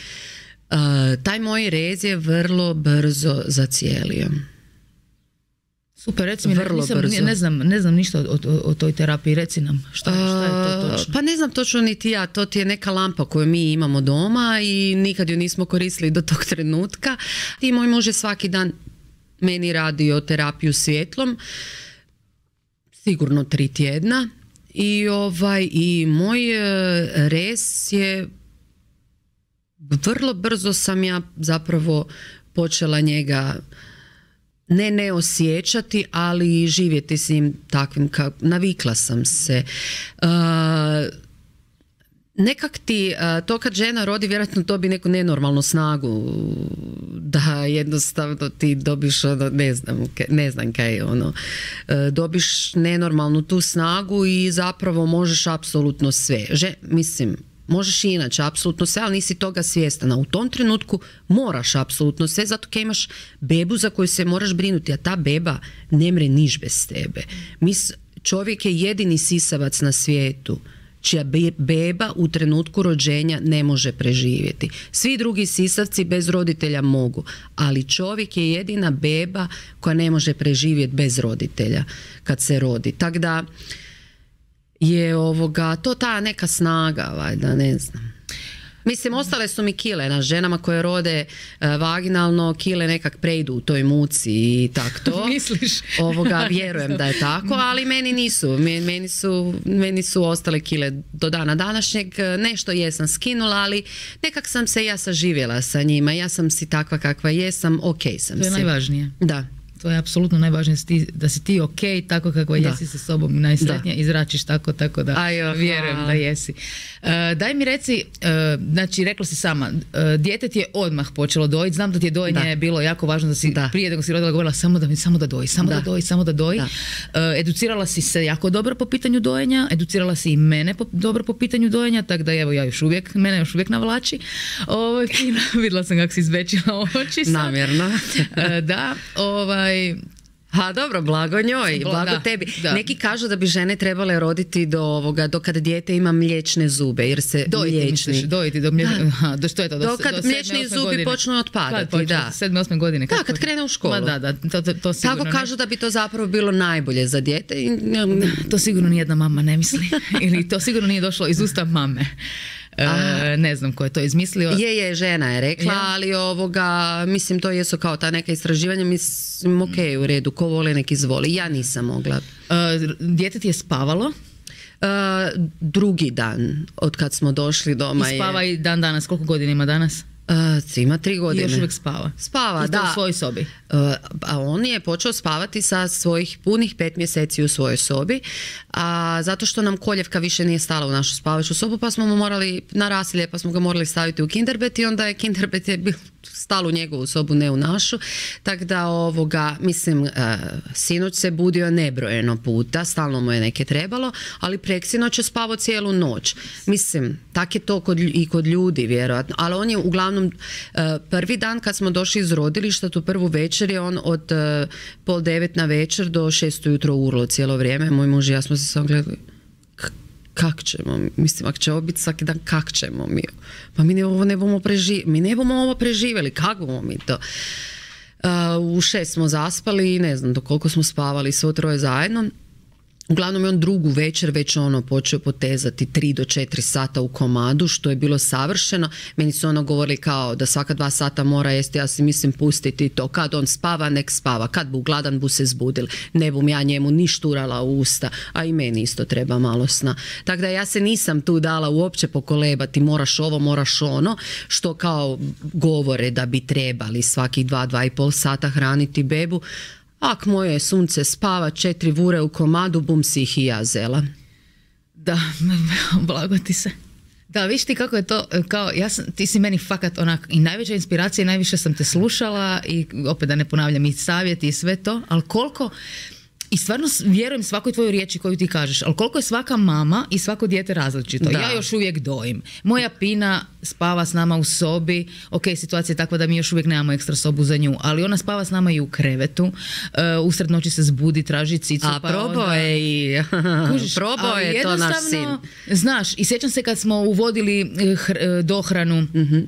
uh, taj moj rez je vrlo brzo zacijelio. Super, reci mi, nisam, ne, znam, ne znam ništa o, o, o toj terapiji, reci nam šta je, šta je to točno. Pa ne znam točno niti ja, to ti je neka lampa koju mi imamo doma i nikad ju nismo koristili do tog trenutka. I moj muž je svaki dan meni radio terapiju svjetlom, sigurno tri tjedna i ovaj i moj rez je vrlo brzo sam ja zapravo počela njega ne ne osjećati, ali živjeti s njim takvim, navikla sam se. Uh, Nekak ti, to kad žena rodi, vjerojatno dobi neku nenormalnu snagu, da jednostavno ti dobiš, ono, ne znam, ne znam kaj je ono, dobiš nenormalnu tu snagu i zapravo možeš apsolutno sve. Že, mislim, možeš i inače, apsolutno sve, ali nisi toga svjestan. A u tom trenutku moraš apsolutno sve, zato kaj imaš bebu za koju se moraš brinuti, a ta beba ne mre niš bez tebe. Mis, čovjek je jedini sisavac na svijetu čija beba u trenutku rođenja ne može preživjeti. Svi drugi sisavci bez roditelja mogu, ali čovjek je jedina beba koja ne može preživjeti bez roditelja kad se rodi. Tako da je ovoga, to ta neka snaga, valjda, ne znam. Mislim, ostale su mi kile na ženama koje rode uh, vaginalno, kile nekak prejdu u toj muci i tak to. Misliš? Ovoga, vjerujem da je tako, ali meni nisu. Meni su, meni su ostale kile do dana današnjeg. Nešto jesam skinula, ali nekak sam se ja saživjela sa njima. Ja sam si takva kakva jesam, ok sam si. To je najvažnije. Da. To je apsolutno najvažnije, da si ti ok, tako kako da. Jesi sa sobom najsretnija, izračiš tako, tako da Ajo, vjerujem da jesi. Uh, daj mi reci, uh, znači rekla si sama, uh, dijete ti je odmah počelo dojiti, znam da ti je dojenje da. bilo jako važno, da si da. prije nego si rodila govorila samo da, samo da doji, samo da, da doji, samo da doji. Da. Uh, educirala si se jako dobro po pitanju dojenja, educirala si i mene po, dobro po pitanju dojenja, tako da evo ja još uvijek, mene još uvijek navlači. Ovo, vidjela sam kako si izvećila oči. Namjerno. uh, da, ovaj Ha, dobro, blago njoj, blago da, tebi. Da. Neki kažu da bi žene trebale roditi do ovoga, do kada dijete ima mliječne zube, jer se dojiti, mliječni... misliš, dojiti, do, mlje... Aha, do što je to? Do, do kad do mliječni zubi godine. Počnu otpadati, kad da. sedme, osme godine. Da, kad krene u školu. Ma da, da, to, to, to sigurno tako kažu ne... da bi to zapravo bilo najbolje za dijete. To sigurno nijedna mama ne misli. Ili to sigurno nije došlo iz usta mame. E, ne znam ko je to izmislio. Je, je, žena je rekla, ja. ali ovoga, mislim, to jesu kao ta neka istraživanja, mislim, ok, u redu, ko voli nek izvoli. Ja nisam mogla. E, dijete ti je spavalo? E, drugi dan od kad smo došli doma. I spava je... i dan danas, koliko godina ima danas? Uh, ima tri godine. I još uvijek spava? Spava, I da. U svojoj sobi? Uh, a on je počeo spavati sa svojih punih pet mjeseci u svojoj sobi, a zato što nam koljevka više nije stala u našu spavaču sobu, pa smo mu morali, na rasilje, pa smo ga morali staviti u kinderbed i onda je kinderbed je bil stalo u njegovu sobu, ne u našu. Tako da ovoga, mislim, uh, sinoć se budio nebrojeno puta, stalno mu je neke trebalo, ali preksinoć je spavao cijelu noć. Mislim, tak je to kod, i kod ljudi, vjerojatno, ali on je uglavnom uh, prvi dan kad smo došli iz rodilišta, tu prvu večer je on od uh, pol devet na večer do šest ujutro urlo cijelo vrijeme. Moj muž i ja smo se samo gledali, kak ćemo, mislim, ako će ovo biti svaki dan, kak ćemo mi? Pa mi ne, ovo ne bomo preživjeli, mi ne bomo ovo preživjeli, kako bomo mi to? Uh, u šest smo zaspali i ne znam do koliko smo spavali svo troje zajedno. Uglavnom je on drugu večer već ono počeo potezati tri do četiri sata u komadu, što je bilo savršeno. Meni su ono govorili kao da svaka dva sata mora jesti, ja si mislim pustiti to. Kad on spava, nek spava. Kad bu gladan, bu se zbudil. Ne bum ja njemu ni šturala u usta, a i meni isto treba malo sna. Tako da ja se nisam tu dala uopće pokolebati, moraš ovo, moraš ono, što kao govore da bi trebali svakih dva, dva i pol sata hraniti bebu. Ak moje sunce spava četiri vure u komadu, bum si ih i ja zela. Da, blago ti se. Da, viš ti kako je to, kao, ja sam, ti si meni fakat onak i najveća inspiracija i najviše sam te slušala i opet da ne ponavljam i savjeti i sve to, ali koliko, i stvarno vjerujem svakoj tvojoj riječi koju ti kažeš, ali koliko je svaka mama i svako dijete različito. Da. Ja još uvijek dojim. Moja Pina spava s nama u sobi, ok, situacija je takva da mi još uvijek nemamo ekstra sobu za nju, ali ona spava s nama i u krevetu, uh, usred noći se zbudi, traži cicu. A pa probao onda... je i probao je to naš sin. Znaš, i sjećam se kad smo uvodili hr, dohranu, mm-hmm.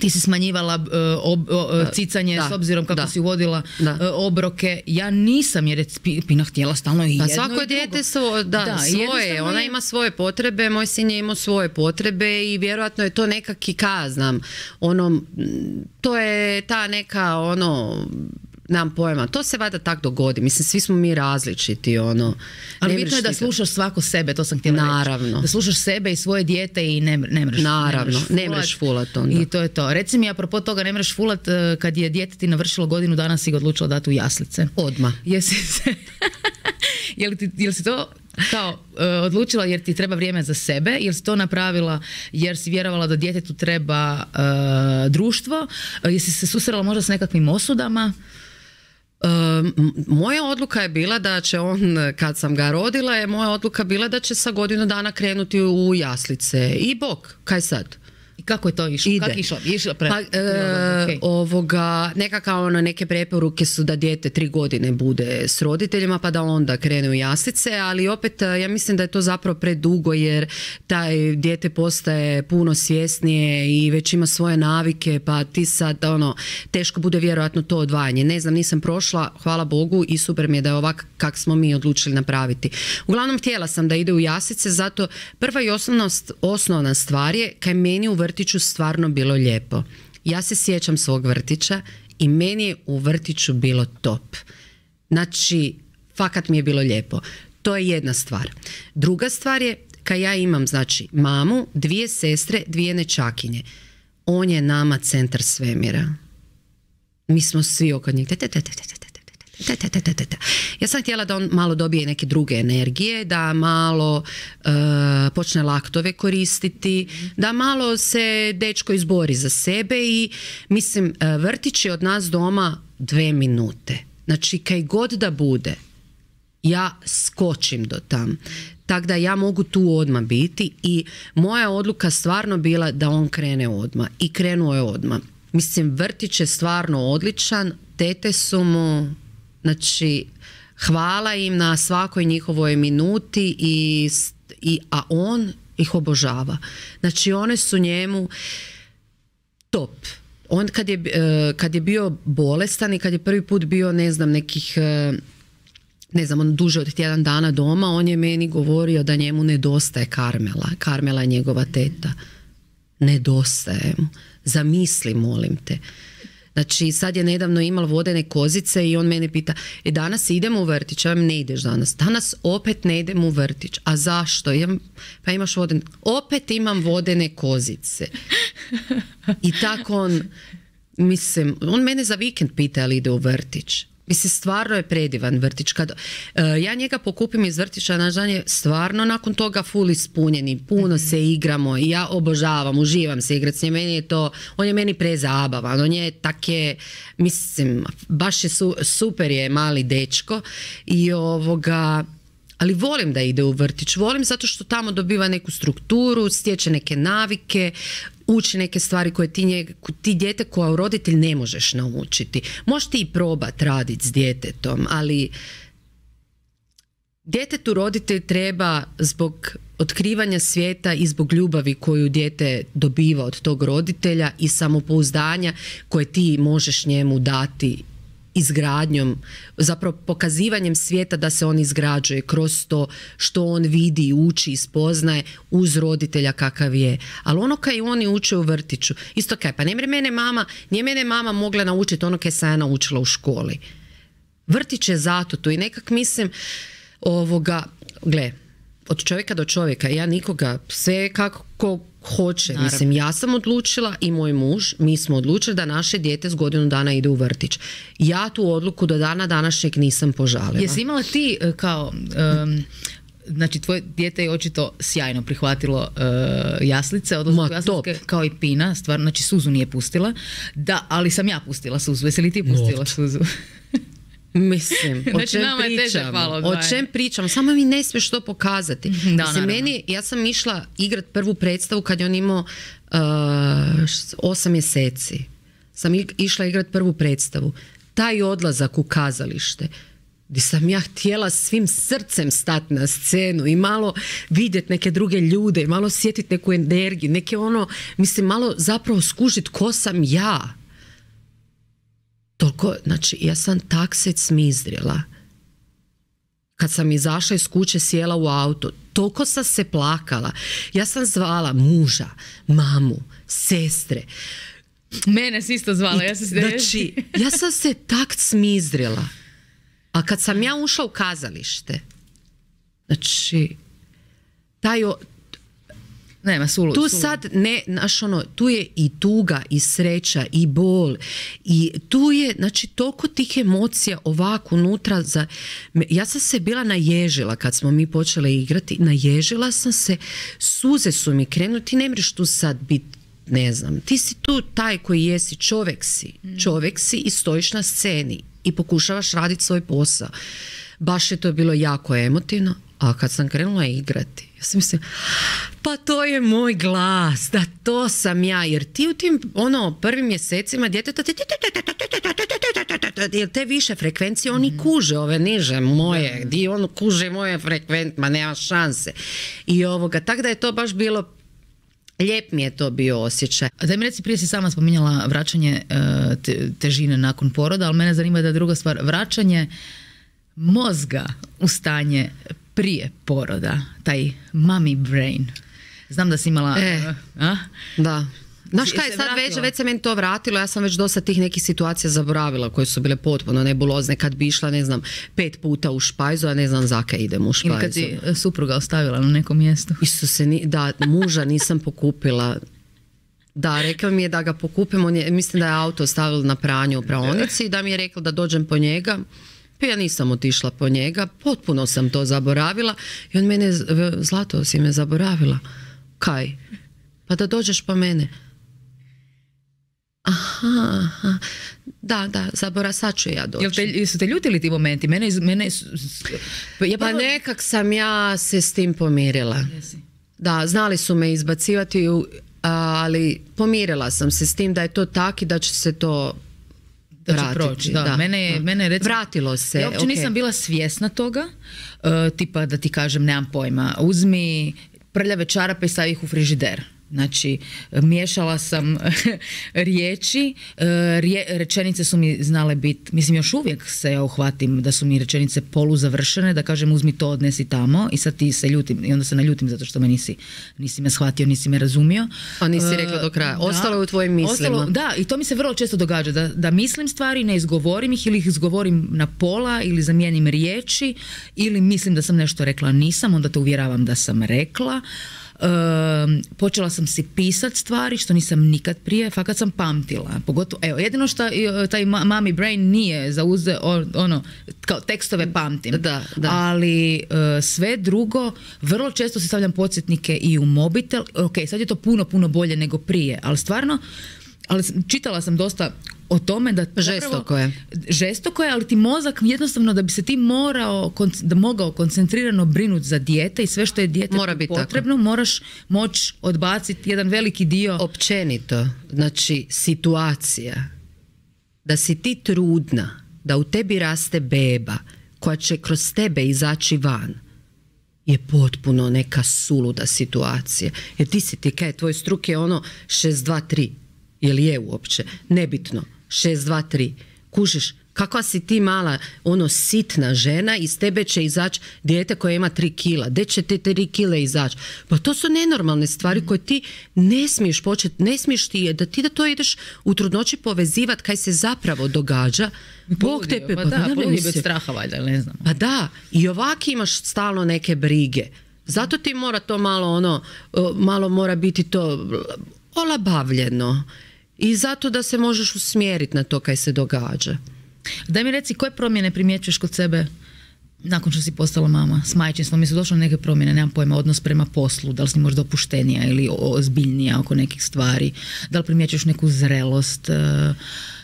ti si smanjivala uh, ob, uh, cicanje da, s obzirom kako da, si uvodila uh, obroke. Ja nisam jer je Pina htjela stalno i jedno pa svako dijete svo, da, da, svoje. Ona je... ima svoje potrebe, moj sin je imao svoje potrebe i vjerojatno je to nekak i kaznam. Ono, to je ta neka ono... Nemam pojma, to se vada tak dogodi, mislim svi smo mi različiti ono. Ali bitno je da slušaš svako sebe, to sam htjela naravno reći. Da slušaš sebe i svoje dijete i ne, ne mreš naravno, ne mreš fulat onda. I to je to. Reci mi apropo toga ne mreš fulat, kad je dijete ti navršilo godinu dana si ga odlučila dati u jaslice. Odmah. Jesi se jel ti, jel si to kao uh, odlučila jer ti treba vrijeme za sebe, jer si to napravila jer si vjerovala da djetetu treba uh, društvo, uh, jesi se susrela možda s nekakvim osudama? Um, moja odluka je bila da će on, kad sam ga rodila, je moja odluka bila da će sa godinu dana krenuti u jaslice. I bok, kaj sad? I kako je to išlo? Ide. Kako išlo? Išlo pre... Pa, e, okay. ovoga, nekako ono, neke preporuke su da dijete tri godine bude s roditeljima pa da onda krene u jaslice, ali opet ja mislim da je to zapravo predugo jer taj dijete postaje puno svjesnije i već ima svoje navike pa ti sad ono, teško bude vjerojatno to odvajanje. Ne znam, nisam prošla, hvala Bogu i super mi je da je ovak kak smo mi odlučili napraviti. Uglavnom htjela sam da ide u jaslice, zato prva i osnovna, osnovna stvar je kaj meni u vrtiću stvarno bilo lijepo. Ja se sjećam svog vrtića i meni je u vrtiću bilo top. Znači, fakat mi je bilo lijepo. To je jedna stvar. Druga stvar je, kad ja imam, znači, mamu, dvije sestre, dvije nečakinje. On je nama centar svemira. Mi smo svi oko njih. Ja sam htjela da on malo dobije neke druge energije, da malo uh, počne laktove koristiti, da malo se dečko izbori za sebe i mislim vrtić je od nas doma dve minute. Znači kaj god da bude, ja skočim do tam. Tako da ja mogu tu odmah biti i moja odluka stvarno bila da on krene odmah i krenuo je odmah. Mislim vrtić je stvarno odličan, tete su mu... Znači, hvala im na svakoj njihovoj minuti, i, i, a on ih obožava. Znači, one su njemu top. On kad je, kad je bio bolestan i kad je prvi put bio, ne znam, nekih, ne znam, on duže od tjedan dana doma, on je meni govorio da njemu nedostaje Karmela. Karmela je njegova teta. Nedostaje mu. Zamisli, molim te. Znači, sad je nedavno imala vodene kozice i on mene pita, e danas idemo u vrtić, ja vam ne ideš danas. Danas opet ne idem u vrtić. A zašto? Ja, pa imaš vodene, opet imam vodene kozice. I tako on, mislim, on mene za vikend pita ali ide u vrtić. Mislim, stvarno je predivan vrtić. Kad, uh, ja njega pokupim iz vrtića, naš dan je stvarno nakon toga full ispunjeni. Puno mm-hmm. se igramo i ja obožavam, uživam se igrati s njim. Meni je to, on je meni prezabavan. On je take, mislim, baš je su, super je mali dečko i ovoga... Ali volim da ide u vrtić, volim zato što tamo dobiva neku strukturu, stječe neke navike, uči neke stvari koje ti, njeg, ti dijete koja roditelj ne možeš naučiti. Možeš ti i probat raditi s djetetom, ali djetetu roditelj treba zbog otkrivanja svijeta i zbog ljubavi koju dijete dobiva od tog roditelja i samopouzdanja koje ti možeš njemu dati izgradnjom, zapravo pokazivanjem svijeta da se on izgrađuje kroz to što on vidi, uči i spoznaje uz roditelja kakav je. Ali ono kaj oni uče u vrtiću, isto kaj, pa ne mene mama, nije mene mama mogla naučiti ono kaj sam ja naučila u školi. Vrtić je zato tu i nekak mislim ovoga, gle, od čovjeka do čovjeka, ja nikoga, sve kako ko hoće. Naravno. Mislim, ja sam odlučila i moj muž, mi smo odlučili da naše dijete s godinu dana ide u vrtić. Ja tu odluku do dana današnjeg nisam požalila. Jesi imala ti kao, um, znači tvoje dijete je očito sjajno prihvatilo uh, jaslice, odnosno jaslice kao i Pina, stvarno, znači suzu nije pustila, da, ali sam ja pustila suzu. Jesi li ti pustila Not. suzu? Mislim, o znači, čem pričam? O čem pričam? Samo mi ne smiješ to pokazati. Da, mislim, meni, ja sam išla igrat prvu predstavu kad je on imao uh, osam mjeseci. Sam išla igrat prvu predstavu. Taj odlazak u kazalište gdje sam ja htjela svim srcem stati na scenu i malo vidjeti neke druge ljude, malo sjetiti neku energiju, neke ono, mislim, malo zapravo skužiti ko sam ja. Toliko, znači, ja sam tak se cmizdrila. Kad sam izašla iz kuće, sjela u auto, toliko sam se plakala. Ja sam zvala muža, mamu, sestre. Mene si isto zvala. Ja, sam se znači, ja sam se tak cmizdrila. A kad sam ja ušla u kazalište, znači, taj... O, Nema, sulu, tu sulu. sad ne, znaš ono, tu je i tuga i sreća i bol i tu je, znači, toliko tih emocija ovako unutra. Za, ja sam se bila naježila kad smo mi počele igrati, naježila sam se, suze su mi krenuli, ti ne mreš tu sad biti, ne znam, ti si tu taj koji jesi, čovjek si, čovjek si i stojiš na sceni i pokušavaš raditi svoj posao. Baš je to bilo jako emotivno, a kad sam krenula igrati, ja sam mislim, pa to je moj glas, da to sam ja, jer ti u tim ono prvim mjesecima djeteta jer te više frekvencije oni kuže ove niže moje, di on kuže moje frekvencije, ma nema šanse. I ovoga, tako da je to baš bilo, lijep mi je to bio osjećaj. A daj mi reci, prije si sama spominjala vraćanje te, težine nakon poroda, ali mene zanima da je druga stvar, vraćanje mozga u stanje prije poroda, taj mommy brain. Znam da si imala... E, a? Da. Znaš kaj, sad već, već se meni to vratilo, ja sam već dosta tih nekih situacija zaboravila koje su bile potpuno nebulozne, kad bi išla, ne znam, pet puta u špajzu, a ne znam zaka idem u špajzu. Ili kad si supruga ostavila na nekom mjestu. Isuse, ni, da, muža nisam pokupila. Da, rekao mi je da ga pokupim, on je, mislim da je auto ostavil na pranju u praonici i da mi je rekao da dođem po njega. Pa ja nisam otišla po njega, potpuno sam to zaboravila i on mene, Zlato, si me zaboravila. Kaj? Pa da dođeš po mene. Aha, aha. Da, da, zabora, sad ću ja doći. Jel te, jesu te ljutili ti momenti? Mene, mene, ja pa nekak sam ja se s tim pomirila. Jesi. Da, znali su me izbacivati, ali pomirila sam se s tim da je to tak i da će se to da će vratiti. Proći, da. Da, mene, da. mene recimo, vratilo se. Ja uopće okay. nisam bila svjesna toga, uh, tipa da ti kažem, nemam pojma, uzmi prljave čarape i stavi ih u frižider. Znači, miješala sam riječi, rje, rečenice su mi znale biti, mislim još uvijek se ja uhvatim da su mi rečenice poluzavršene, da kažem uzmi to, odnesi tamo i sad ti se ljutim i onda se naljutim zato što me nisi, nisi me shvatio, nisi me razumio. A nisi rekla do kraja, ostalo je u tvojim mislima. Ostalo, da, i to mi se vrlo često događa, da, da mislim stvari, ne izgovorim ih ili ih izgovorim na pola ili zamijenim riječi ili mislim da sam nešto rekla, nisam, onda te uvjeravam da sam rekla. Um, počela sam si pisat stvari što nisam nikad prije, fakat sam pamtila, pogotovo, evo, jedino što taj mommy brain nije zauze, ono, kao tekstove pamtim, da, da. ali uh, sve drugo, vrlo često si stavljam podsjetnike i u mobitel, ok, sad je to puno, puno bolje nego prije, ali stvarno, ali čitala sam dosta o tome da žestoko je. Žestoko je, ali ti mozak jednostavno da bi se ti morao, da mogao koncentrirano brinuti za dijete i sve što je dijete Mora potrebno, tako. Moraš moći odbaciti jedan veliki dio. Općenito, znači situacija da si ti trudna, da u tebi raste beba koja će kroz tebe izaći van, je potpuno neka suluda situacija. Jer ti si ti, kaj, tvoj struk je ono šest dva tri. Jel je uopće? Nebitno. šest dva tri. Kužiš, kakva si ti mala, ono, sitna žena, iz tebe će izaći dijete koje ima tri kila. Gdje će te tri kile izaći? Pa to su nenormalne stvari koje ti ne smiješ početi, ne smiješ ti, da ti da to ideš u trudnoći povezivati kaj se zapravo događa. Bog te pe... Pa da, pa poludi bez straha valjda, ne znam. Pa da, i ovak imaš stalno neke brige. Zato ti mora to malo, ono, malo mora biti to olabavljeno. I zato da se možeš usmjeriti na to kaj se događa. Daj mi reci, koje promjene primjećuješ kod sebe nakon što si postala mama s majčinstvom? Mi su došle neke promjene, nemam pojma, odnos prema poslu, da li si možda opuštenija ili ozbiljnija oko nekih stvari, da li primjećuješ neku zrelost?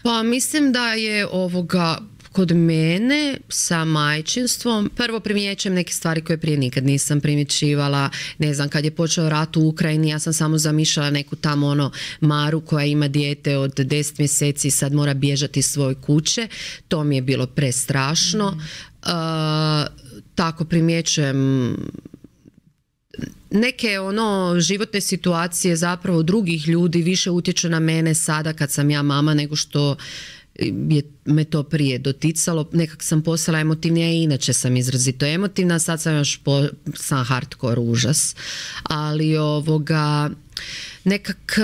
Pa mislim da je ovoga... Kod mene sa majčinstvom prvo primjećujem neke stvari koje prije nikad nisam primjećivala. Ne znam, kad je počeo rat u Ukrajini, ja sam samo zamišljala neku tamo ono Maru koja ima dijete od deset mjeseci i sad mora bježati iz svoje kuće. To mi je bilo prestrašno. Mm. Uh, tako primjećujem neke ono životne situacije zapravo drugih ljudi više utječu na mene sada kad sam ja mama nego što je me to prije doticalo. Nekak sam postala emotivnija i inače sam izrazito emotivna, sad sam još po, sam hardcore užas, ali ovoga nekak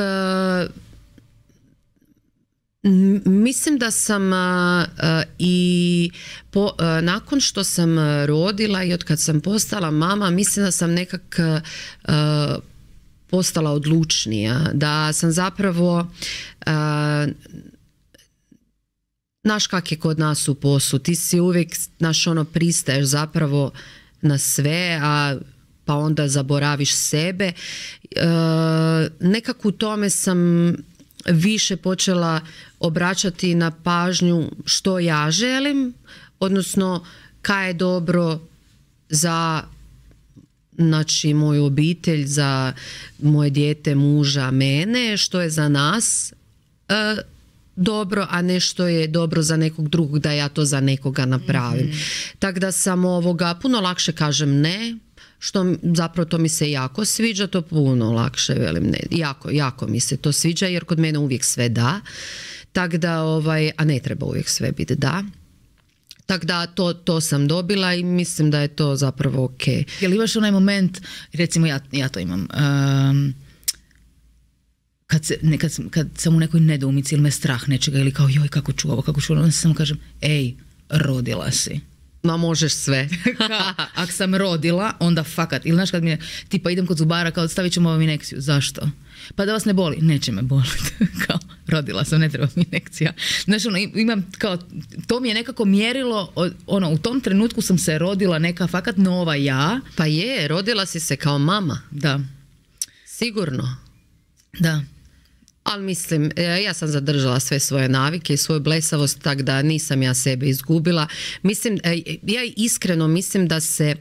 mislim da sam a, a, i po, a, nakon što sam rodila i od kad sam postala mama, mislim da sam nekak a, postala odlučnija, da sam zapravo a, znaš kak je kod nas u poslu, ti si uvijek, znaš, ono, pristaješ zapravo na sve, a pa onda zaboraviš sebe. E, nekako u tome sam više počela obraćati na pažnju što ja želim, odnosno kaj je dobro za, znači, moju obitelj, za moje dijete, muža, mene, što je za nas e, dobro, a ne što je dobro za nekog drugog da ja to za nekoga napravim. Mm-hmm. Tako da sam ovoga, puno lakše kažem ne, što zapravo to mi se jako sviđa, to puno lakše velim ne. Jako, jako mi se to sviđa jer kod mene uvijek sve da. Tako da, ovaj, a ne treba uvijek sve biti da. Tako da to, to sam dobila i mislim da je to zapravo ok. Jel imaš onaj moment, recimo ja, ja to imam, um, kad, se, ne, kad, kad sam u nekoj nedoumici ili me strah nečega ili kao joj kako ću ovo, kako ću ovo, onda samo kažem ej, rodila si. Ma možeš sve. Ako sam rodila, onda fakat. Ili znaš kad mi je, tipa idem kod zubara, kao stavit ćemo vam injekciju. Zašto? Pa da vas ne boli. Neće me boliti. Kao, rodila sam, ne treba mi injekcija. Znaš, ono, imam kao, to mi je nekako mjerilo, ono, u tom trenutku sam se rodila neka fakat nova ja. Pa je, rodila si se kao mama. Da. Sigurno. Da. Ali mislim, ja sam zadržala sve svoje navike i svoju blesavost, tako da nisam ja sebe izgubila. Mislim, ja iskreno mislim da se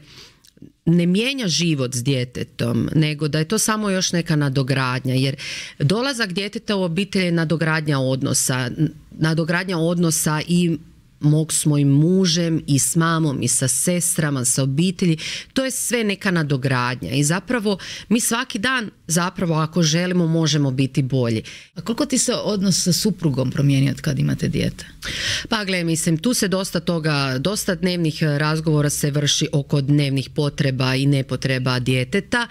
ne mijenja život s djetetom, nego da je to samo još neka nadogradnja, jer dolazak djeteta u obitelj je nadogradnja odnosa, nadogradnja odnosa i mog s mojim mužem i s mamom i sa sestrama, sa obitelji, to je sve neka nadogradnja i zapravo mi svaki dan zapravo ako želimo možemo biti bolji. A koliko ti se odnos sa suprugom promijenio od kad imate dijete? Pa gle, mislim, tu se dosta toga, dosta dnevnih razgovora se vrši oko dnevnih potreba i nepotreba djeteta,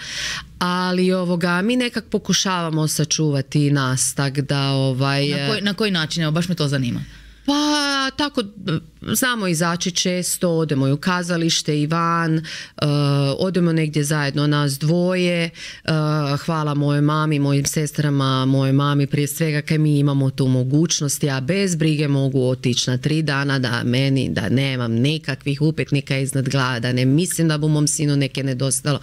ali ovoga, mi nekak pokušavamo sačuvati nas, tak da ovaj... Na koji, na koji način? Evo, baš me to zanima. Pa tako, znamo izaći često, odemo i u kazalište i van, uh, odemo negdje zajedno nas dvoje, uh, hvala mojoj mami, mojim sestrama, mojoj mami prije svega kaj mi imamo tu mogućnost, ja bez brige mogu otići na tri dana da meni, da nemam nikakvih upitnika iznad glava, da ne mislim da bu mom sinu neke nedostalo.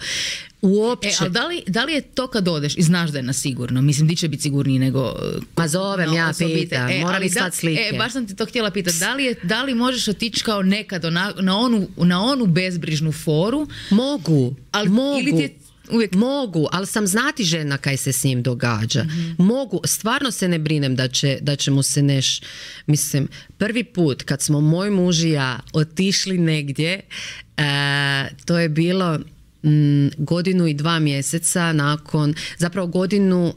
Uopće. E, ali da li, da li je to kad odeš i znaš da je na sigurno? Mislim, di će biti sigurniji nego... Ma zovem, ja pitam, e, moram mi sad slike. E, baš sam ti to htjela pitati, da li, je, da li možeš otići kao nekad na, na, onu, na onu bezbrižnu foru? Mogu, ali, mogu. Ili ti je uvijek... Mogu, ali sam znati žena kaj se s njim događa. Mm-hmm. Mogu, stvarno se ne brinem da će, da će mu se neš... Mislim, prvi put kad smo moj muž i ja otišli negdje, uh, to je bilo... godinu i dva mjeseca nakon, zapravo godinu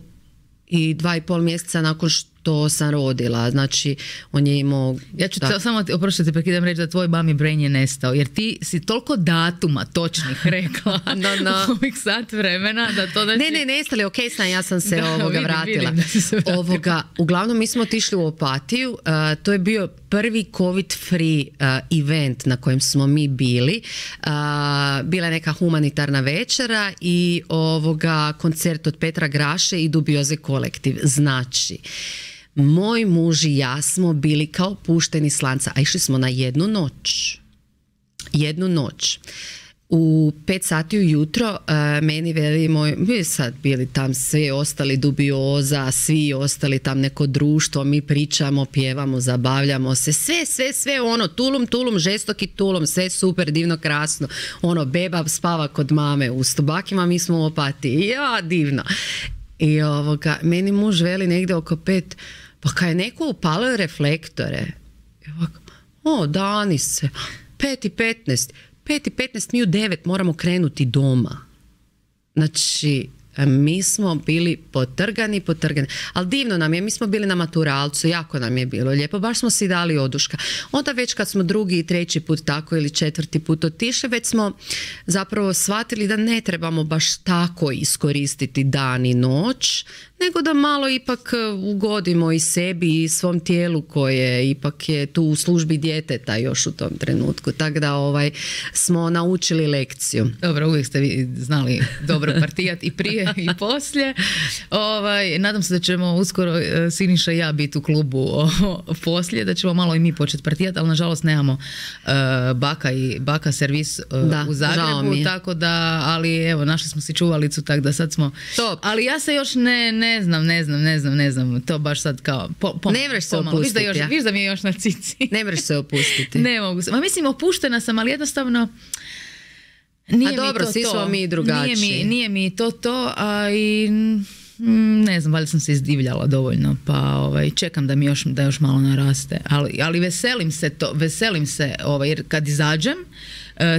i dva i pol mjeseca nakon što sam rodila, znači on je imao... Ja ću to samo, oprošću te prekidam reći da tvoj mami brain je nestao, jer ti si toliko datuma točnih rekla no, no. u ovih sat vremena da to da... Ne, ne, nestali, ok sam, ja sam se da, ovoga vidim, vratila. Vidim da se vratila. Ovoga, uglavnom mi smo otišli u Opatiju, uh, to je bio prvi covid free uh, event na kojem smo mi bili. Uh, bila je neka humanitarna večera i ovoga koncert od Petra Graše i Dubioze kolektiv. Znači, moj muž i ja smo bili kao pušteni s lanca, a išli smo na jednu noć. Jednu noć. U pet sati ujutro uh, meni veli moj, mi sad bili tam svi ostali Dubioza, svi ostali tam neko društvo, mi pričamo, pjevamo, zabavljamo se, sve, sve, sve ono, tulum, tulum, žestoki tulum, sve super, divno, krasno, ono, beba spava kod mame u Stubakima, mi smo u Opatiji, ja, divno. I ovoga, meni muž veli negdje oko pet, pa kaj je neko upalio reflektore, i ovako, o, dani se, pet i petnaest, pet i petnaest, mi u devet moramo krenuti doma. Znači, mi smo bili potrgani, potrgani. Ali divno nam je, mi smo bili na maturalcu, jako nam je bilo lijepo, baš smo si dali oduška. Onda već kad smo drugi i treći put tako ili četvrti put otišli, već smo zapravo shvatili da ne trebamo baš tako iskoristiti dan i noć, nego da malo ipak ugodimo i sebi i svom tijelu koje ipak je tu u službi djeteta još u tom trenutku. Tako da ovaj, smo naučili lekciju. Dobro, uvijek ste vi znali dobro partijat i prije i poslije. Ovaj, nadam se da ćemo uskoro e, Siniša i ja biti u klubu o, poslije, da ćemo malo i mi početi partijati, ali nažalost nemamo e, baka i baka servis e, da, u Zagrebu, tako da, ali evo, našli smo si čuvalicu, tako da sad smo... Top. Ali ja se još ne, ne znam, ne znam, ne znam, ne znam, to baš sad kao... Po, po, ne vreš se pomalo. opustiti. Viš da, još, ja. viš da mi je još na cici. Ne vreš se opustiti. Ne mogu se. Ma mislim, opuštena sam, ali jednostavno... Nije a dobro, mi to svi to. smo mi drugačiji. Nije mi, nije mi to to, a i ne znam, valjda sam se izdivljala dovoljno, pa ovaj, čekam da mi još, da još malo naraste. Ali, ali veselim se to, veselim se, ovaj, jer kad izađem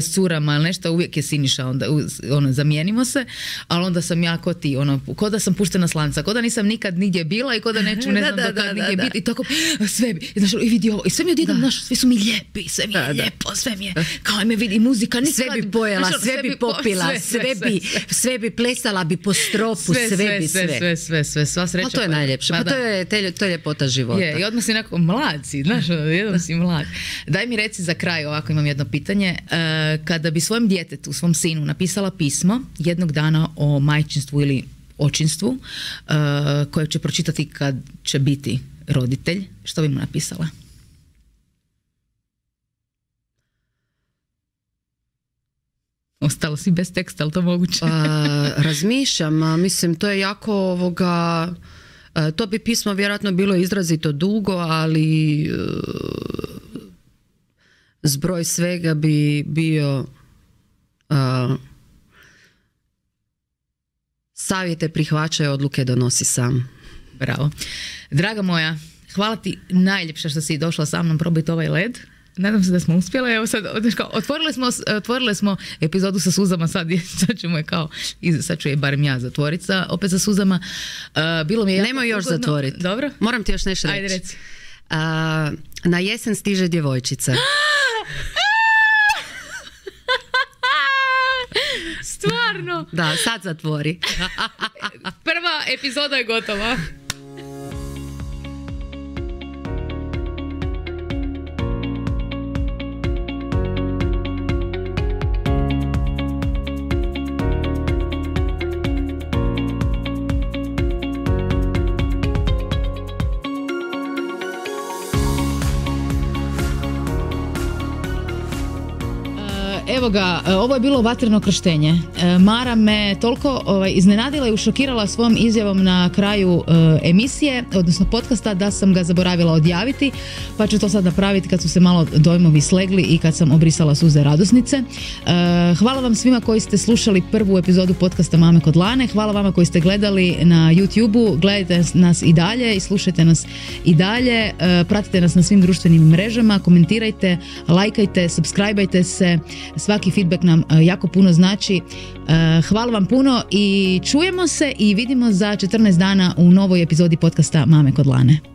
s curama ili nešto, uvijek je Siniša, onda ono, zamijenimo se, ali onda sam ja ko ti, ono, ko da sam puštena s lanca, ko da nisam nikad nigdje bila i ko da neću, ne znam da, da, do kad nigdje biti i tako, sve bi, znaš, i vidi ovo, i sve mi odjednom, znaš, svi su mi lijepi, sve mi je da, lijepo, da. Sve mi je, kao me vidi muzika, nikad, sve bi pojela, znaš, sve, sve bi popila, sve, sve, sve, sve, bi, sve, sve bi plesala bi po stropu, sve, sve, sve bi sve. Sve, sve, sve, sve, sva sreća. Pa to je pa, najljepše, pa, pa to, je, te, to je ljepota života. Je, i odmah si onako, mlad si, znaš, jednom si mlad. Daj mi reci za kraj, ovako imam jedno pitanje, uh, kada bi svojem djetetu, svom sinu napisala pismo jednog dana o majčinstvu ili očinstvu uh, koje će pročitati kad će biti roditelj, što bi mu napisala? Ostalo si bez teksta, ali to moguće? uh, razmišljam, mislim to je jako ovoga, uh, to bi pismo vjerojatno bilo izrazito dugo, ali uh, zbroj svega bi bio Uh, savjete prihvaćaj, odluke donosi sam. Bravo. Draga moja, hvala ti najljepše što si došla sa mnom probiti ovaj led. Nadam se da smo uspjeli. Evo sad, otvorili smo, otvorili smo epizodu sa suzama, sad, sad ćemo je kao, sad ću je barem ja zatvoriti sa, opet sa suzama. Uh, bilo mi je Nemoj još ugodno. Zatvoriti. Dobro? Moram ti još nešto reći. Ajde reci. Uh, na jesen stiže djevojčica. Stvarno? Da, sad zatvori. Prva epizoda je gotova. Evo ga, ovo je bilo vatreno krštenje. Mara me toliko ovaj, iznenadila i ušokirala svojom izjavom na kraju uh, emisije, odnosno podcasta, da sam ga zaboravila odjaviti, pa ću to sad napraviti kad su se malo dojmovi slegli i kad sam obrisala suze radosnice. Uh, hvala vam svima koji ste slušali prvu epizodu podcasta Mame kod Lane, hvala vama koji ste gledali na YouTubeu, gledajte nas i dalje i slušajte nas i dalje, uh, pratite nas na svim društvenim mrežama, komentirajte, lajkajte, subscribeajte se, svaki feedback nam jako puno znači. Hvala vam puno i čujemo se i vidimo za četrnaest dana u novoj epizodi podcasta Mame kod Lane.